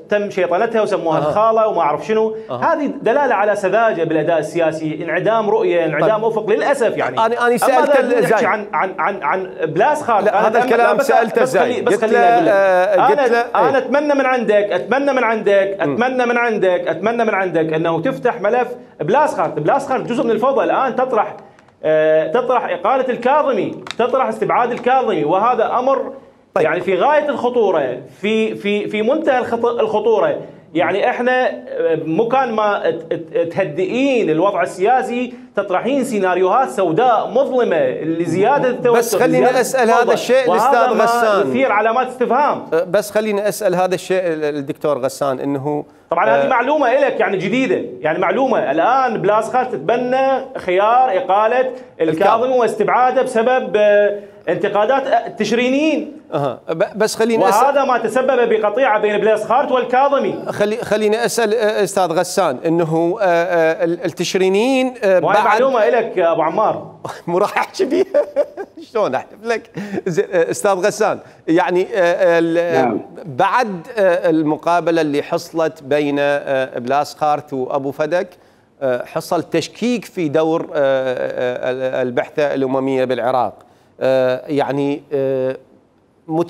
تم شيطنتها وسموها الخالة وما أعرف شنو. هذه دلالة على سذاجة بالأداء السياسي، انعدام رؤية، انعدام أفق للأسف. يعني أنا سألت زايد عن بلاس خالد. هذا الكلام سألته زايد. بس خليني أقول لك أنا أتمنى من عندك أنه تفتح ملف بلاس خالد. بلاس خالد جزء من الفوضى الآن، تطرح إقالة الكاظمي، تطرح استبعاد الكاظمي، وهذا أمر يعني في غاية الخطورة، في منتهى الخطورة. يعني احنا مكان ما تهدئين الوضع السياسي تطرحين سيناريوهات سوداء مظلمة لزيادة التوتر. بس خليني أسأل هذا الشيء الأستاذ غسان، يثير علامات استفهام. بس خليني أسأل هذا الشيء الدكتور غسان، إنه طبعا هذه معلومة لك يعني جديدة، يعني معلومة الآن بلاس خالد تتبنى خيار إقالة الكاظمي واستبعاده بسبب انتقادات تشرينيين. بس خليني أسأل، وهذا ما تسبب بقطيعة بين بلاس خالد والكاظمي. خليني أسأل أستاذ غسان، إنه التشرينيين بعد معلومة لك يا أبو عمار مو راح أحكي بيها شلون أحلف لك أستاذ غسان. يعني بعد المقابلة اللي حصلت بين بلاس خارت وأبو فدك حصل تشكيك في دور البعثة الأممية بالعراق. يعني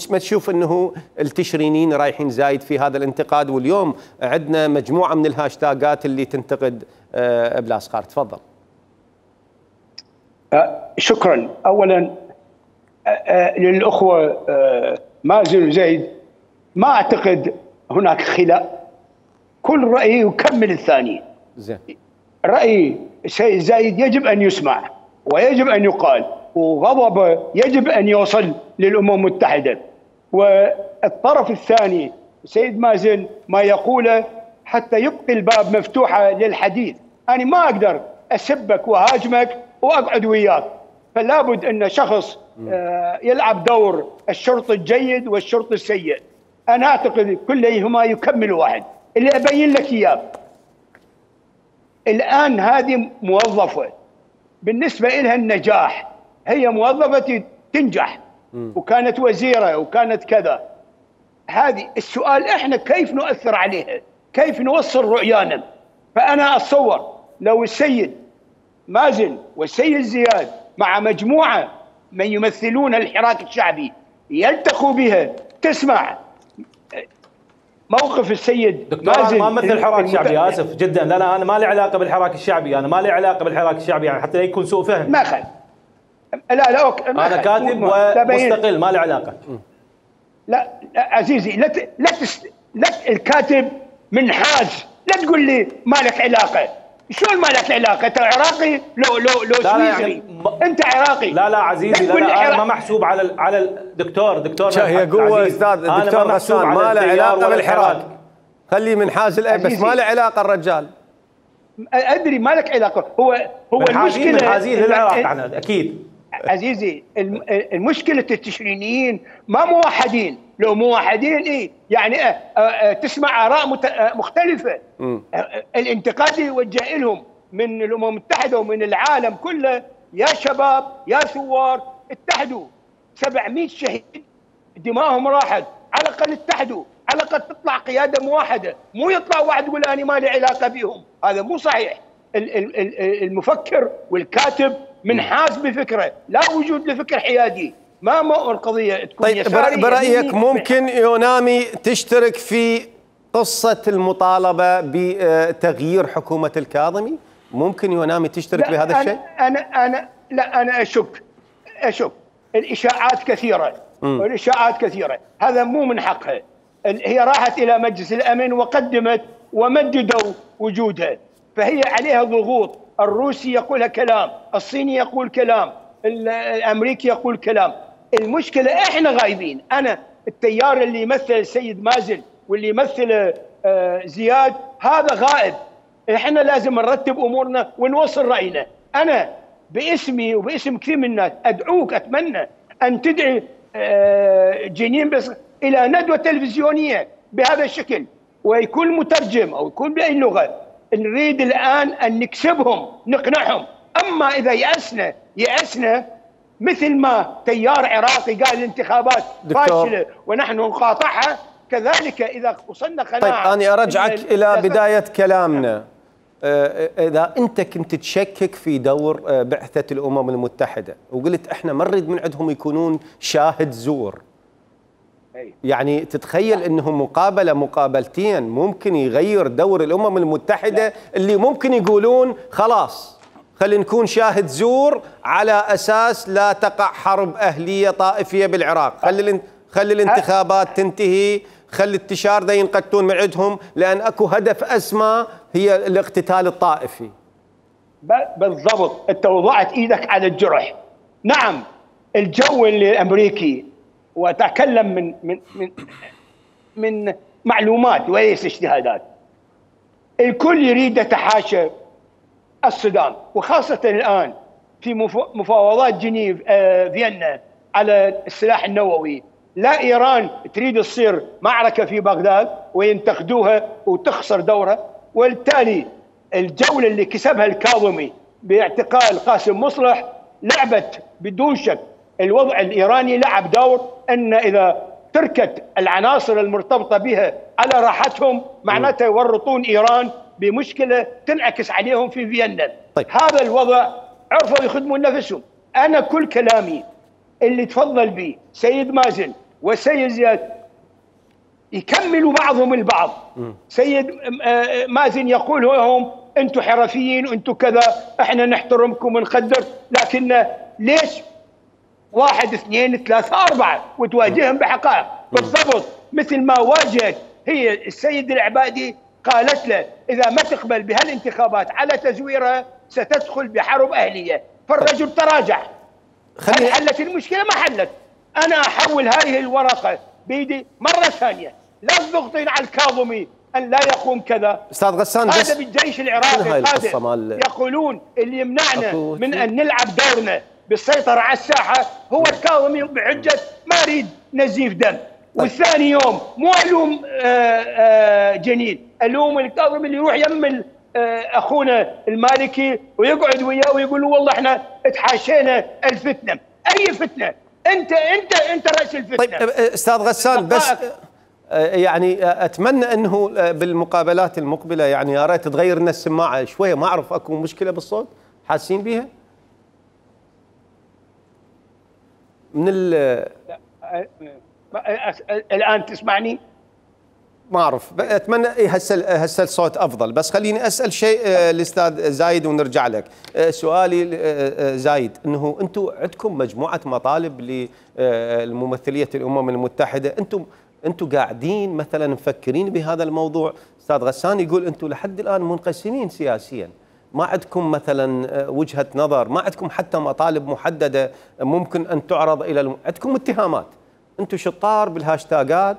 ما تشوف انه التشرينيين رايحين زايد في هذا الانتقاد؟ واليوم عندنا مجموعه من الهاشتاجات اللي تنتقد بلاس خارت. تفضل. شكرا. اولا للاخوه مازن وزيد، ما اعتقد هناك خلاف، كل راي يكمل الثاني. زين. راي السيد زايد يجب ان يسمع ويجب ان يقال، وغضبه يجب أن يوصل للأمم المتحدة. والطرف الثاني سيد مازن ما يقوله حتى يبقي الباب مفتوحة للحديث. أنا ما أقدر أسبك وهاجمك وأقعد وياك، فلا بد أن شخص يلعب دور الشرط الجيد والشرط السيء. أنا أعتقد كلهما يكمل واحد. اللي أبين لك إياه الآن، هذه موظفة بالنسبة لها النجاح، هي موظفة تنجح وكانت وزيرة وكانت كذا. هذه السؤال احنا كيف نؤثر عليها؟ كيف نوصل رؤيانا؟ فأنا أتصور لو السيد مازن والسيد زياد مع مجموعة من يمثلون الحراك الشعبي يلتقوا بها، تسمع موقف السيد دكتور. أنا ما مثل الحراك الشعبي، آسف جدا. لا أنا ما لي علاقة بالحراك الشعبي، أنا ما لي علاقة بالحراك الشعبي، يعني حتى لا يكون سوء فهم. ما خل. لا أوكي. أنا كاتب ومستقل، ما لي علاقة. لا عزيزي، لا الكاتب منحاز، لا تقول لي ما لك علاقة. شلون ما لك علاقة؟ أنت عراقي لو سويسري. أنت عراقي. لا عزيزي، لا أنا ما محسوب على الدكتور. هي قوة أستاذ الدكتور غسان ما له علاقة بالحراك. خليه منحاز بس ما له علاقة الرجال. أدري ما لك علاقة. هو المشكلة منحازين للعراق أكيد. عزيزي، المشكلة التشرينيين ما موحدين. لو موحدين يعني تسمع آراء مختلفة. الانتقاد يوجه لهم من الأمم المتحدة ومن العالم كله: يا شباب يا ثوار اتحدوا. 700 شهيد دماءهم راحت، على الأقل اتحدوا، على الأقل تطلع قيادة موحدة، مو يطلع واحد يقول أنا ما لي علاقة بهم. هذا مو صحيح. المفكر والكاتب منحاز بفكره، لا وجود لفكر حيادي. ما القضيه تكون طيب برأيك ممكن يونامي تشترك في قصة المطالبة بتغيير حكومة الكاظمي؟ ممكن يونامي تشترك بهذا الشيء؟ أنا أشك. الإشاعات كثيرة والإشاعات كثيرة، هذا مو من حقها. هي راحت إلى مجلس الأمن وقدمت ومددوا وجودها، فهي عليها ضغوط. الروسي يقول كلام، الصيني يقول كلام، الأمريكي يقول كلام. المشكلة إحنا غايبين. أنا التيار اللي يمثل السيد مازن واللي يمثل زياد هذا غائب. إحنا لازم نرتب أمورنا ونوصل رأينا. أنا باسمي وباسم كثير من الناس ادعوك، اتمنى ان تدعي جنين بس الى ندوه تلفزيونيه بهذا الشكل، ويكون مترجم او يكون باي لغه. نريد الان ان نكسبهم، نقنعهم. اما اذا يأسنا مثل ما تيار عراقي قال الانتخابات فاشله ونحن نقاطعها، كذلك اذا وصلنا قناعه. طيب انا ارجعك الى بدايه كلامنا. اذا انت كنت تشكك في دور بعثه الامم المتحده وقلت احنا ما نريد من عندهم يكونون شاهد زور، يعني تتخيل انهم مقابلتين ممكن يغير دور الامم المتحده اللي ممكن يقولون خلاص خلينا نكون شاهد زور على اساس لا تقع حرب اهليه طائفيه بالعراق، خلي الانتخابات تنتهي، خلي التشار ذا ينقتلون من عندهم، لان اكو هدف اسمى هي الاقتتال الطائفي. بالضبط، انت وضعت ايدك على الجرح. نعم الجو الامريكي، واتكلم من معلومات وليس اجتهادات، الكل يريد يتحاشى السودان، وخاصه الان في مفاوضات جنيف فيينا على السلاح النووي. لا ايران تريد تصير معركه في بغداد وينتقدوها وتخسر دورها، وبالتالي الجوله اللي كسبها الكاظمي باعتقال قاسم مصلح لعبت بدون شك. الوضع الايراني لعب دور ان اذا تركت العناصر المرتبطه بها على راحتهم معناته يورطون ايران بمشكله تنعكس عليهم في فيينا. طيب. هذا الوضع عرفوا يخدمون نفسهم. انا كل كلامي اللي تفضل به سيد مازن وسيد زياد يكملوا بعضهم البعض. سيد مازن يقول لهم انتم حرفيين وانتم كذا، احنا نحترمكم ونقدر، لكن ليش 1 2 3 4 وتواجههم بحقائق؟ بالضبط مثل ما واجهت هي السيد العبادي، قالت له اذا ما تقبل بهالانتخابات على تزويرها ستدخل بحرب اهليه، فالرجل تراجع. هل حلت المشكله؟ ما حلت. انا احول هذه الورقه بيدي مره ثانيه، لا تضغطين على الكاظمي ان لا يقوم كذا. استاذ غسان هذا بالجيش العراقي القادم يقولون اللي يمنعنا من ان نلعب دورنا بالسيطره على الساحه هو الكاظمي بحجه ما اريد نزيف دم. والثاني يوم مو الوم جنين، الوم الكاظمي اللي يروح يم اخونا المالكي ويقعد وياه ويقول له والله احنا تحاشينا الفتنه. اي فتنه؟ انت راس الفتنه. طيب استاذ غسان، بس يعني اتمنى انه بالمقابلات المقبله يعني يا ريت تغير لنا السماعه شويه، ما اعرف اكو مشكله بالصوت حاسين بيها؟ من الان تسمعني؟ ما اعرف، اتمنى هسه الصوت افضل. بس خليني اسال شيء الاستاذ زايد ونرجع لك. سؤالي زايد انه انتم عندكم مجموعه مطالب لممثليه الامم المتحده، انتم قاعدين مثلا مفكرين بهذا الموضوع؟ استاذ غسان يقول انتم لحد الان منقسمين سياسيا، ما عندكم مثلا وجهه نظر، ما عندكم حتى مطالب محدده ممكن ان تعرض الى عندكم اتهامات. انتم شطار بالهاشتاجات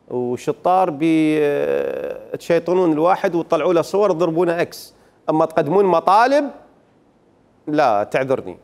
وشطار بتشيطنون الواحد وتطلعوا له صور تضربونه اكس، اما تقدمون مطالب لا تعذرني.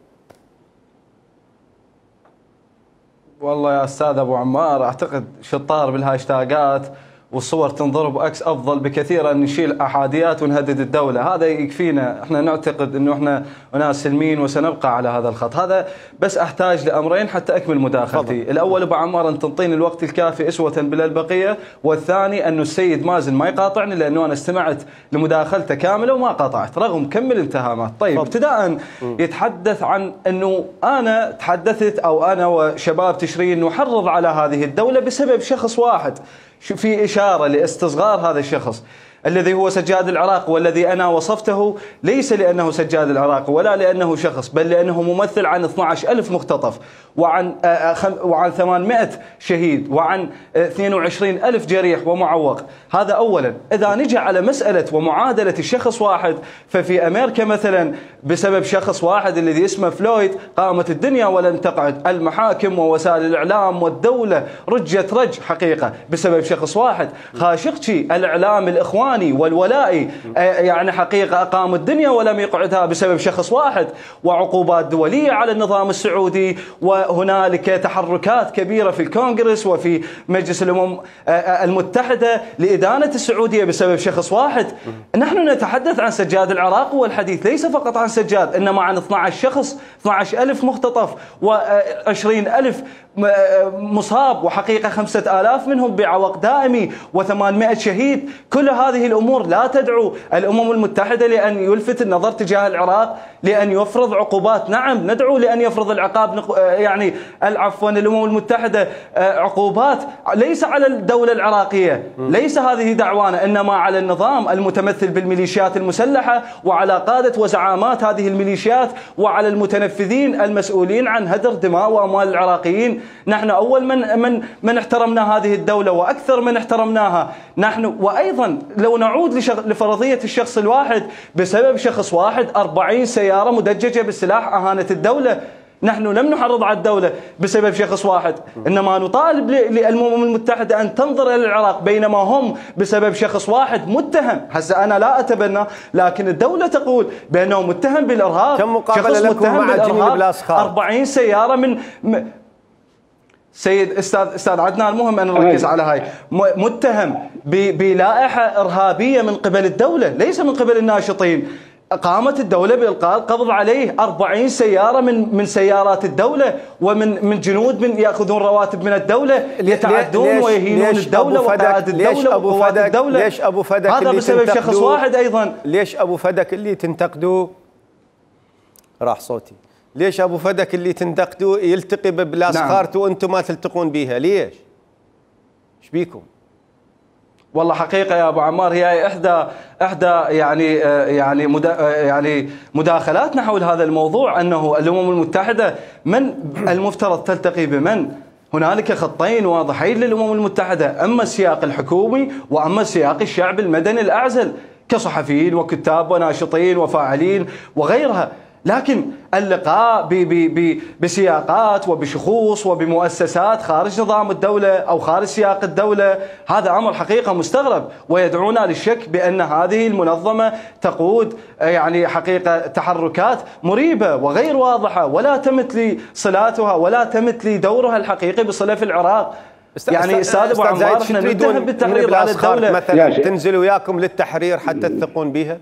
والله يا استاذ ابو عمار اعتقد شطار بالهاشتاجات والصور تنضرب اكس افضل بكثير ان نشيل احاديات ونهدد الدوله، هذا يكفينا. احنا نعتقد انه احنا اناس سلمين وسنبقى على هذا الخط. هذا بس احتاج لامرين حتى اكمل مداخلتي. الاول ابو عمار ان تنطيني الوقت الكافي اسوه بالبقيه، والثاني انه السيد مازن ما يقاطعني لانه انا استمعت لمداخلته كامله وما قاطعت رغم كم الاتهامات. طيب ابتداء يتحدث عن انه انا تحدثت او انا وشباب تشرين نحرض على هذه الدوله بسبب شخص واحد، في إشارة لاستصغار هذا الشخص الذي هو سجاد العراق، والذي أنا وصفته ليس لأنه سجاد العراق ولا لأنه شخص، بل لأنه ممثل عن 12,000 مختطف وعن 800 شهيد وعن 22,000 جريح ومعوق. هذا أولا. إذا نجي على مسألة ومعادلة الشخص واحد، ففي أمريكا مثلا بسبب شخص واحد الذي اسمه فلويد قامت الدنيا ولن تقعد، المحاكم ووسائل الإعلام والدولة رجت رج حقيقة بسبب شخص واحد. خاشقشي الإعلام الإخواني العدواني والولائي يعني حقيقة أقام الدنيا ولم يقعدها بسبب شخص واحد، وعقوبات دولية على النظام السعودي، وهنالك تحركات كبيرة في الكونغرس وفي مجلس الأمم المتحدة لإدانة السعودية بسبب شخص واحد. نحن نتحدث عن سجاد العراق، والحديث ليس فقط عن سجاد، إنما عن 12 شخص، 12,000 مختطف و20,000 مصاب، وحقيقة 5,000 منهم بعوق دائمي و800 شهيد. كل هذه الأمور لا تدعو الأمم المتحدة لأن يلفت النظر تجاه العراق، لأن يفرض عقوبات. نعم ندعو لأن يفرض العقاب، يعني عفوا الأمم المتحدة عقوبات ليس على الدولة العراقية، ليس هذه دعوانا، إنما على النظام المتمثل بالميليشيات المسلحة وعلى قادة وزعامات هذه الميليشيات وعلى المتنفذين المسؤولين عن هدر دماء وأموال العراقيين. نحن أول من احترمنا هذه الدولة وأكثر من احترمناها نحن. وأيضا لو نعود لفرضية الشخص الواحد، بسبب شخص واحد 40 سيارة مدججة بالسلاح أهانت الدولة. نحن لم نحرض على الدولة بسبب شخص واحد، إنما نطالب للأمم المتحدة أن تنظر إلى العراق، بينما هم بسبب شخص واحد متهم. هسه أنا لا أتبنى، لكن الدولة تقول بأنه متهم بالإرهاب. كم مقابلة لكم مع جميل بلاسخار؟ 40 سيارة من سيد استاذ عدنان، المهم ان نركز على هاي. متهم بلائحه ارهابيه من قبل الدوله، ليس من قبل الناشطين. قامت الدوله بالقاء القبض عليه 40 سياره من سيارات الدوله، ومن جنود من ياخذون رواتب من الدوله، يتعدون ويهينون الدوله وقائد الدوله وقوات الدوله. ليش ابو فدك هذا بسبب شخص واحد ايضا؟ ليش ابو فدك اللي تنتقدوه راح صوتي؟ ليش ابو فدك اللي تنتقدوه يلتقي ببلاسخارته وانتم ما تلتقون بيها؟ ليش؟ ايش بيكم؟ والله حقيقه يا ابو عمار هي احدى يعني مداخلاتنا حول هذا الموضوع، انه الامم المتحده من المفترض تلتقي بمن؟ هنالك خطين واضحين للامم المتحده، اما السياق الحكومي واما سياق الشعب المدني الاعزل كصحفيين وكتاب وناشطين وفاعلين وغيرها. لكن اللقاء بسياقات وبشخوص وبمؤسسات خارج نظام الدولة أو خارج سياق الدولة، هذا أمر حقيقة مستغرب، ويدعونا للشك بأن هذه المنظمة تقود يعني حقيقة تحركات مريبة وغير واضحة، ولا تمت لي صلاتها ولا تمت لي دورها الحقيقي بصلة في العراق. يعني استاذ ابو عمار، احنا نتهم بالتحريض على الدولة مثلا تنزل وياكم للتحرير حتى تثقون بها؟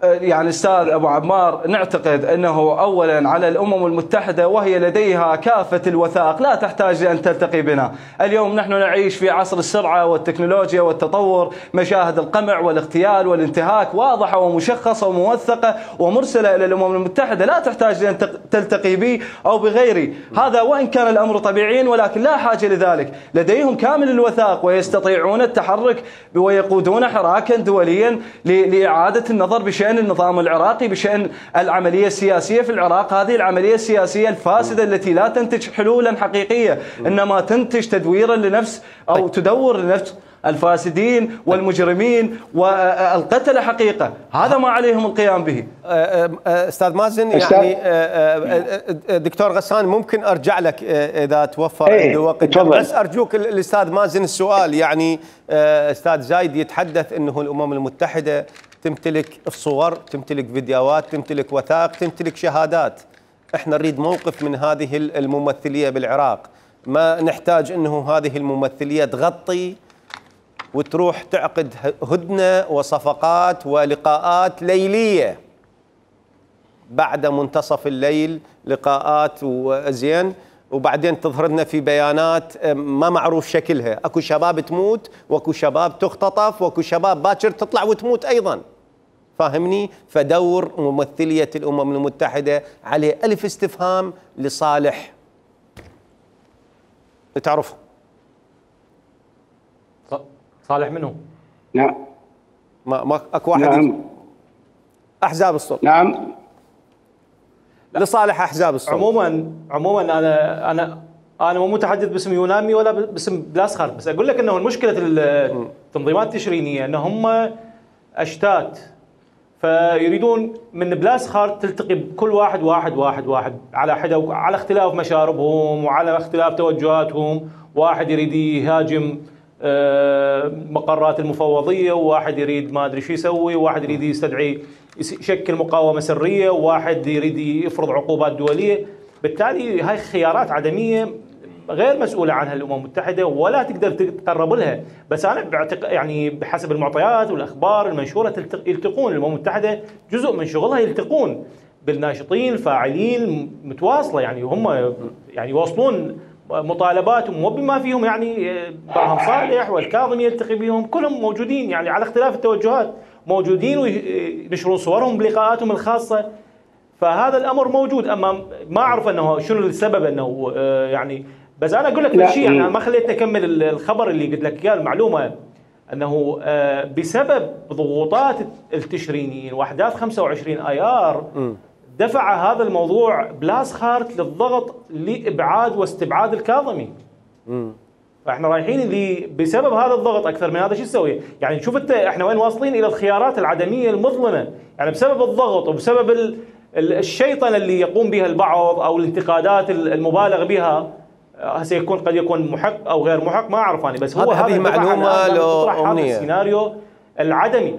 يعني استاذ ابو عمار، نعتقد انه اولا على الامم المتحده وهي لديها كافه الوثائق لا تحتاج ان تلتقي بنا. اليوم نحن نعيش في عصر السرعه والتكنولوجيا والتطور، مشاهد القمع والاغتيال والانتهاك واضحه ومشخصه وموثقه ومرسله الى الامم المتحده، لا تحتاج ان تلتقي بي او بغيري. هذا وان كان الامر طبيعيا، ولكن لا حاجه لذلك. لديهم كامل الوثائق ويستطيعون التحرك ويقودون حراكا دوليا لاعاده النظر بشأن النظام العراقي، بشأن العملية السياسية في العراق. هذه العملية السياسية الفاسدة التي لا تنتج حلولا حقيقية، إنما تنتج تدويرا لنفس أو تدور لنفس الفاسدين والمجرمين والقتلة حقيقة. هذا ما عليهم القيام به. أستاذ مازن، يعني دكتور غسان ممكن أرجع لك إذا توفر عندي وقت، بس أرجوك الأستاذ مازن السؤال. يعني أستاذ زايد يتحدث أنه الأمم المتحدة تمتلك الصور، تمتلك فيديوهات، تمتلك وثائق، تمتلك شهادات. احنا نريد موقف من هذه الممثلية بالعراق. ما نحتاج انه هذه الممثلية تغطي وتروح تعقد هدنة وصفقات ولقاءات ليلية بعد منتصف الليل، لقاءات وزين، وبعدين تظهر لنا في بيانات ما معروف شكلها. اكو شباب تموت، واكو شباب تختطف، واكو شباب باكر تطلع وتموت ايضا. فاهمني؟ فدور ممثلية الأمم المتحدة عليه ألف استفهام لصالح تعرفه. صالح منه؟ نعم. ما اكو واحد. نعم. أحزاب السلطة. نعم. لصالح أحزاب السلطة. عموما أنا مو متحدث باسم يونامي ولا باسم بلاسخار، بس أقول لك أنه مشكلة التنظيمات التشرينية أنه هم أشتات، فيريدون من بلاسخار تلتقي بكل واحد على حدة، على اختلاف مشاربهم وعلى اختلاف توجهاتهم. واحد يريد يهاجم مقرات المفوضيه، وواحد يريد ما ادري شو يسوي، وواحد يريد يستدعي يشكل مقاومه سريه، وواحد يريد يفرض عقوبات دوليه. بالتالي هاي خيارات عدميه غير مسؤوله عنها الامم المتحده ولا تقدر تقرب لها. بس انا يعني بحسب المعطيات والاخبار المنشوره يلتقون الامم المتحده، جزء من شغلها يلتقون بالناشطين الفاعلين متواصله، يعني هم يعني يوصلون مطالباتهم وبما فيهم يعني برهم صالح والكاظمي يلتقي بهم، كلهم موجودين يعني على اختلاف التوجهات موجودين وينشرون صورهم بلقاءاتهم الخاصه. فهذا الامر موجود. اما ما اعرف انه شنو السبب انه يعني، بس انا اقول لك شيء، يعني ما خليتني اكمل الخبر اللي قلت لك اياه، المعلومه انه بسبب ضغوطات التشرينيين واحداث 25 ايار دفع هذا الموضوع بلاسخارت للضغط لابعاد واستبعاد الكاظمي. فاحنا رايحين اللي بسبب هذا الضغط اكثر من هذا شو نسوي؟ يعني شوف انت احنا وين واصلين، الى الخيارات العدميه المظلمه، يعني بسبب الضغط وبسبب الشيطنه اللي يقوم بها البعض او الانتقادات المبالغ بها. هسه يكون قد يكون محق او غير محق ما اعرف انا، بس هو هذه معلومه لو هذا السيناريو العدمي.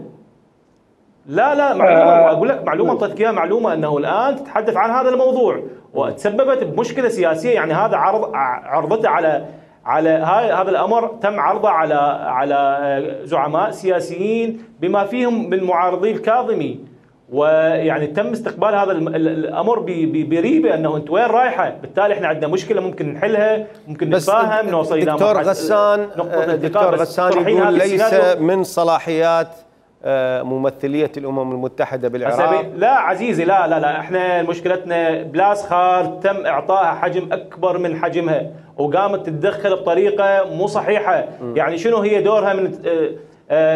لا معلومه، اقول لك معلومه اعطيتك اياها، معلومه انه الان تتحدث عن هذا الموضوع وتسببت بمشكله سياسيه. يعني هذا عرضته على هذا الامر تم عرضه على زعماء سياسيين بما فيهم من معارضي الكاظمي، ويعني تم استقبال هذا الامر بريبه انه انت وين رايحه. بالتالي احنا عندنا مشكله ممكن نحلها، ممكن نتفاهم، نوصل الى دكتور غسان يقول ليس من صلاحيات ممثليه الامم المتحده بالعراق. لا عزيزي، لا احنا مشكلتنا بلاسخارت تم اعطائها حجم اكبر من حجمها وقامت تتدخل بطريقه مو صحيحه. يعني شنو هي دورها من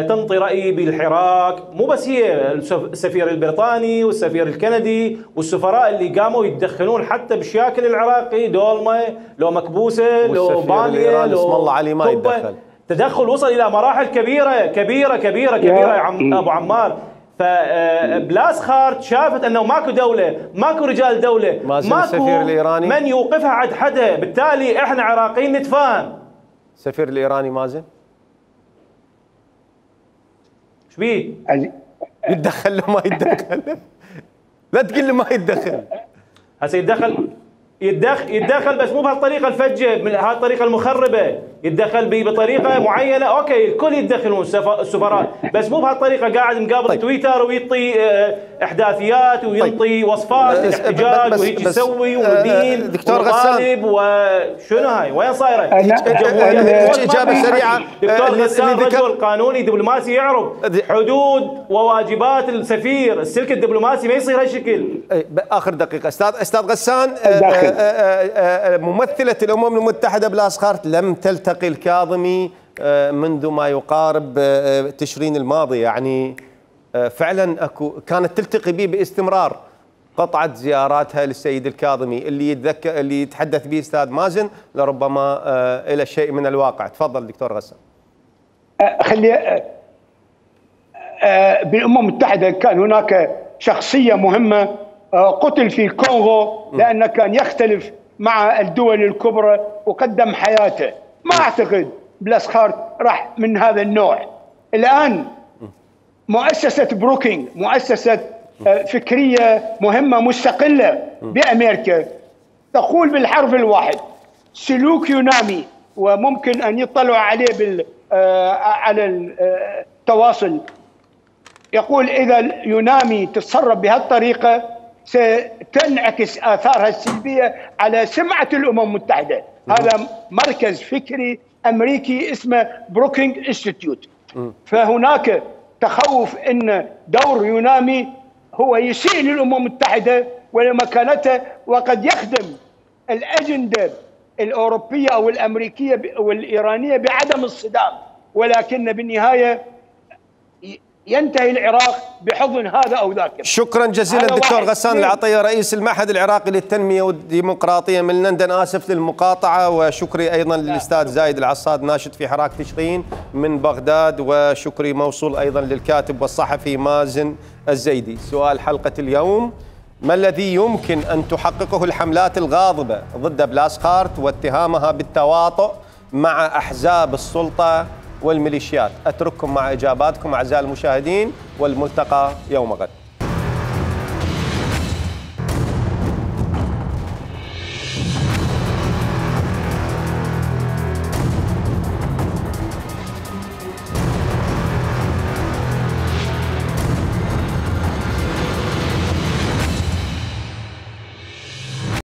تنطي رأي بالحراك؟ مو بس هي، السفير البريطاني والسفير الكندي والسفراء اللي قاموا يتدخلون حتى بالشاكل العراقي، دولمة لو مكبوسة لو بالية لو اسم الله علي ما يتدخل. تدخل وصل إلى مراحل كبيرة يا أبو عمار. فبلاسخارت شافت أنه ماكو دولة، ماكو رجال دولة، ماكو السفير الإيراني من يوقفها عند حدها. بالتالي احنا عراقيين نتفاهم. السفير الإيراني مازن بيه؟ يتدخل له ما يتدخل؟ لا تقول له ما يتدخل. هسه يتدخل بس مو بهالطريقه الفجه، من هالطريقه المخربه. يتدخل بطريقه معينه، اوكي الكل يتدخلون السفراء، بس مو بهالطريقه قاعد مقابل طيب. تويتر ويعطي احداثيات ويعطي وصفات الاحتجاج وهيك يسوي ومدين دكتور غسان وشنو هاي وين صايره؟ اجابه سريعه. دكتور غسان رجل قانوني دبلوماسي يعرف حدود وواجبات السفير، السلك الدبلوماسي ما يصير هالشكل. اخر دقيقه استاذ غسان، ممثله الامم المتحده بلاسخارت لم تلتقي الكاظمي منذ ما يقارب تشرين الماضي، يعني فعلا كانت تلتقي به باستمرار. قطعت زياراتها للسيد الكاظمي اللي يتحدث به استاذ مازن لربما الى شيء من الواقع. تفضل دكتور غسان. خلي بالامم المتحده كان هناك شخصيه مهمه قتل في الكونغو لانه كان يختلف مع الدول الكبرى وقدم حياته. ما اعتقد بلاسخارت راح من هذا النوع. الان مؤسسه بروكينج، مؤسسه فكريه مهمه مستقله بامريكا، تقول بالحرف الواحد سلوك يونامي، وممكن ان يطلعوا عليه على التواصل. يقول اذا يونامي تتصرف بهالطريقه ستنعكس آثارها السلبية على سمعة الأمم المتحدة. هذا مركز فكري أمريكي اسمه بروكينج انستيتيوت. فهناك تخوف أن دور يونامي هو يسيء للأمم المتحدة ولمكانتها، وقد يخدم الأجندة الأوروبية أو الأمريكية والإيرانية بعدم الصدام، ولكن بالنهاية ينتهي العراق بحضن هذا أو ذاك. شكرا جزيلا دكتور غسان العطية، رئيس المعهد العراقي للتنمية والديمقراطية من لندن. آسف للمقاطعة، وشكري أيضا للأستاذ زايد العصاد ناشط في حراك تشرين من بغداد، وشكري موصول أيضا للكاتب والصحفي مازن الزيدي. سؤال حلقة اليوم: ما الذي يمكن أن تحققه الحملات الغاضبة ضد بلاسخارت واتهامها بالتواطؤ مع أحزاب السلطة والميليشيات. أترككم مع إجاباتكم أعزائي المشاهدين، والملتقى يوم غد.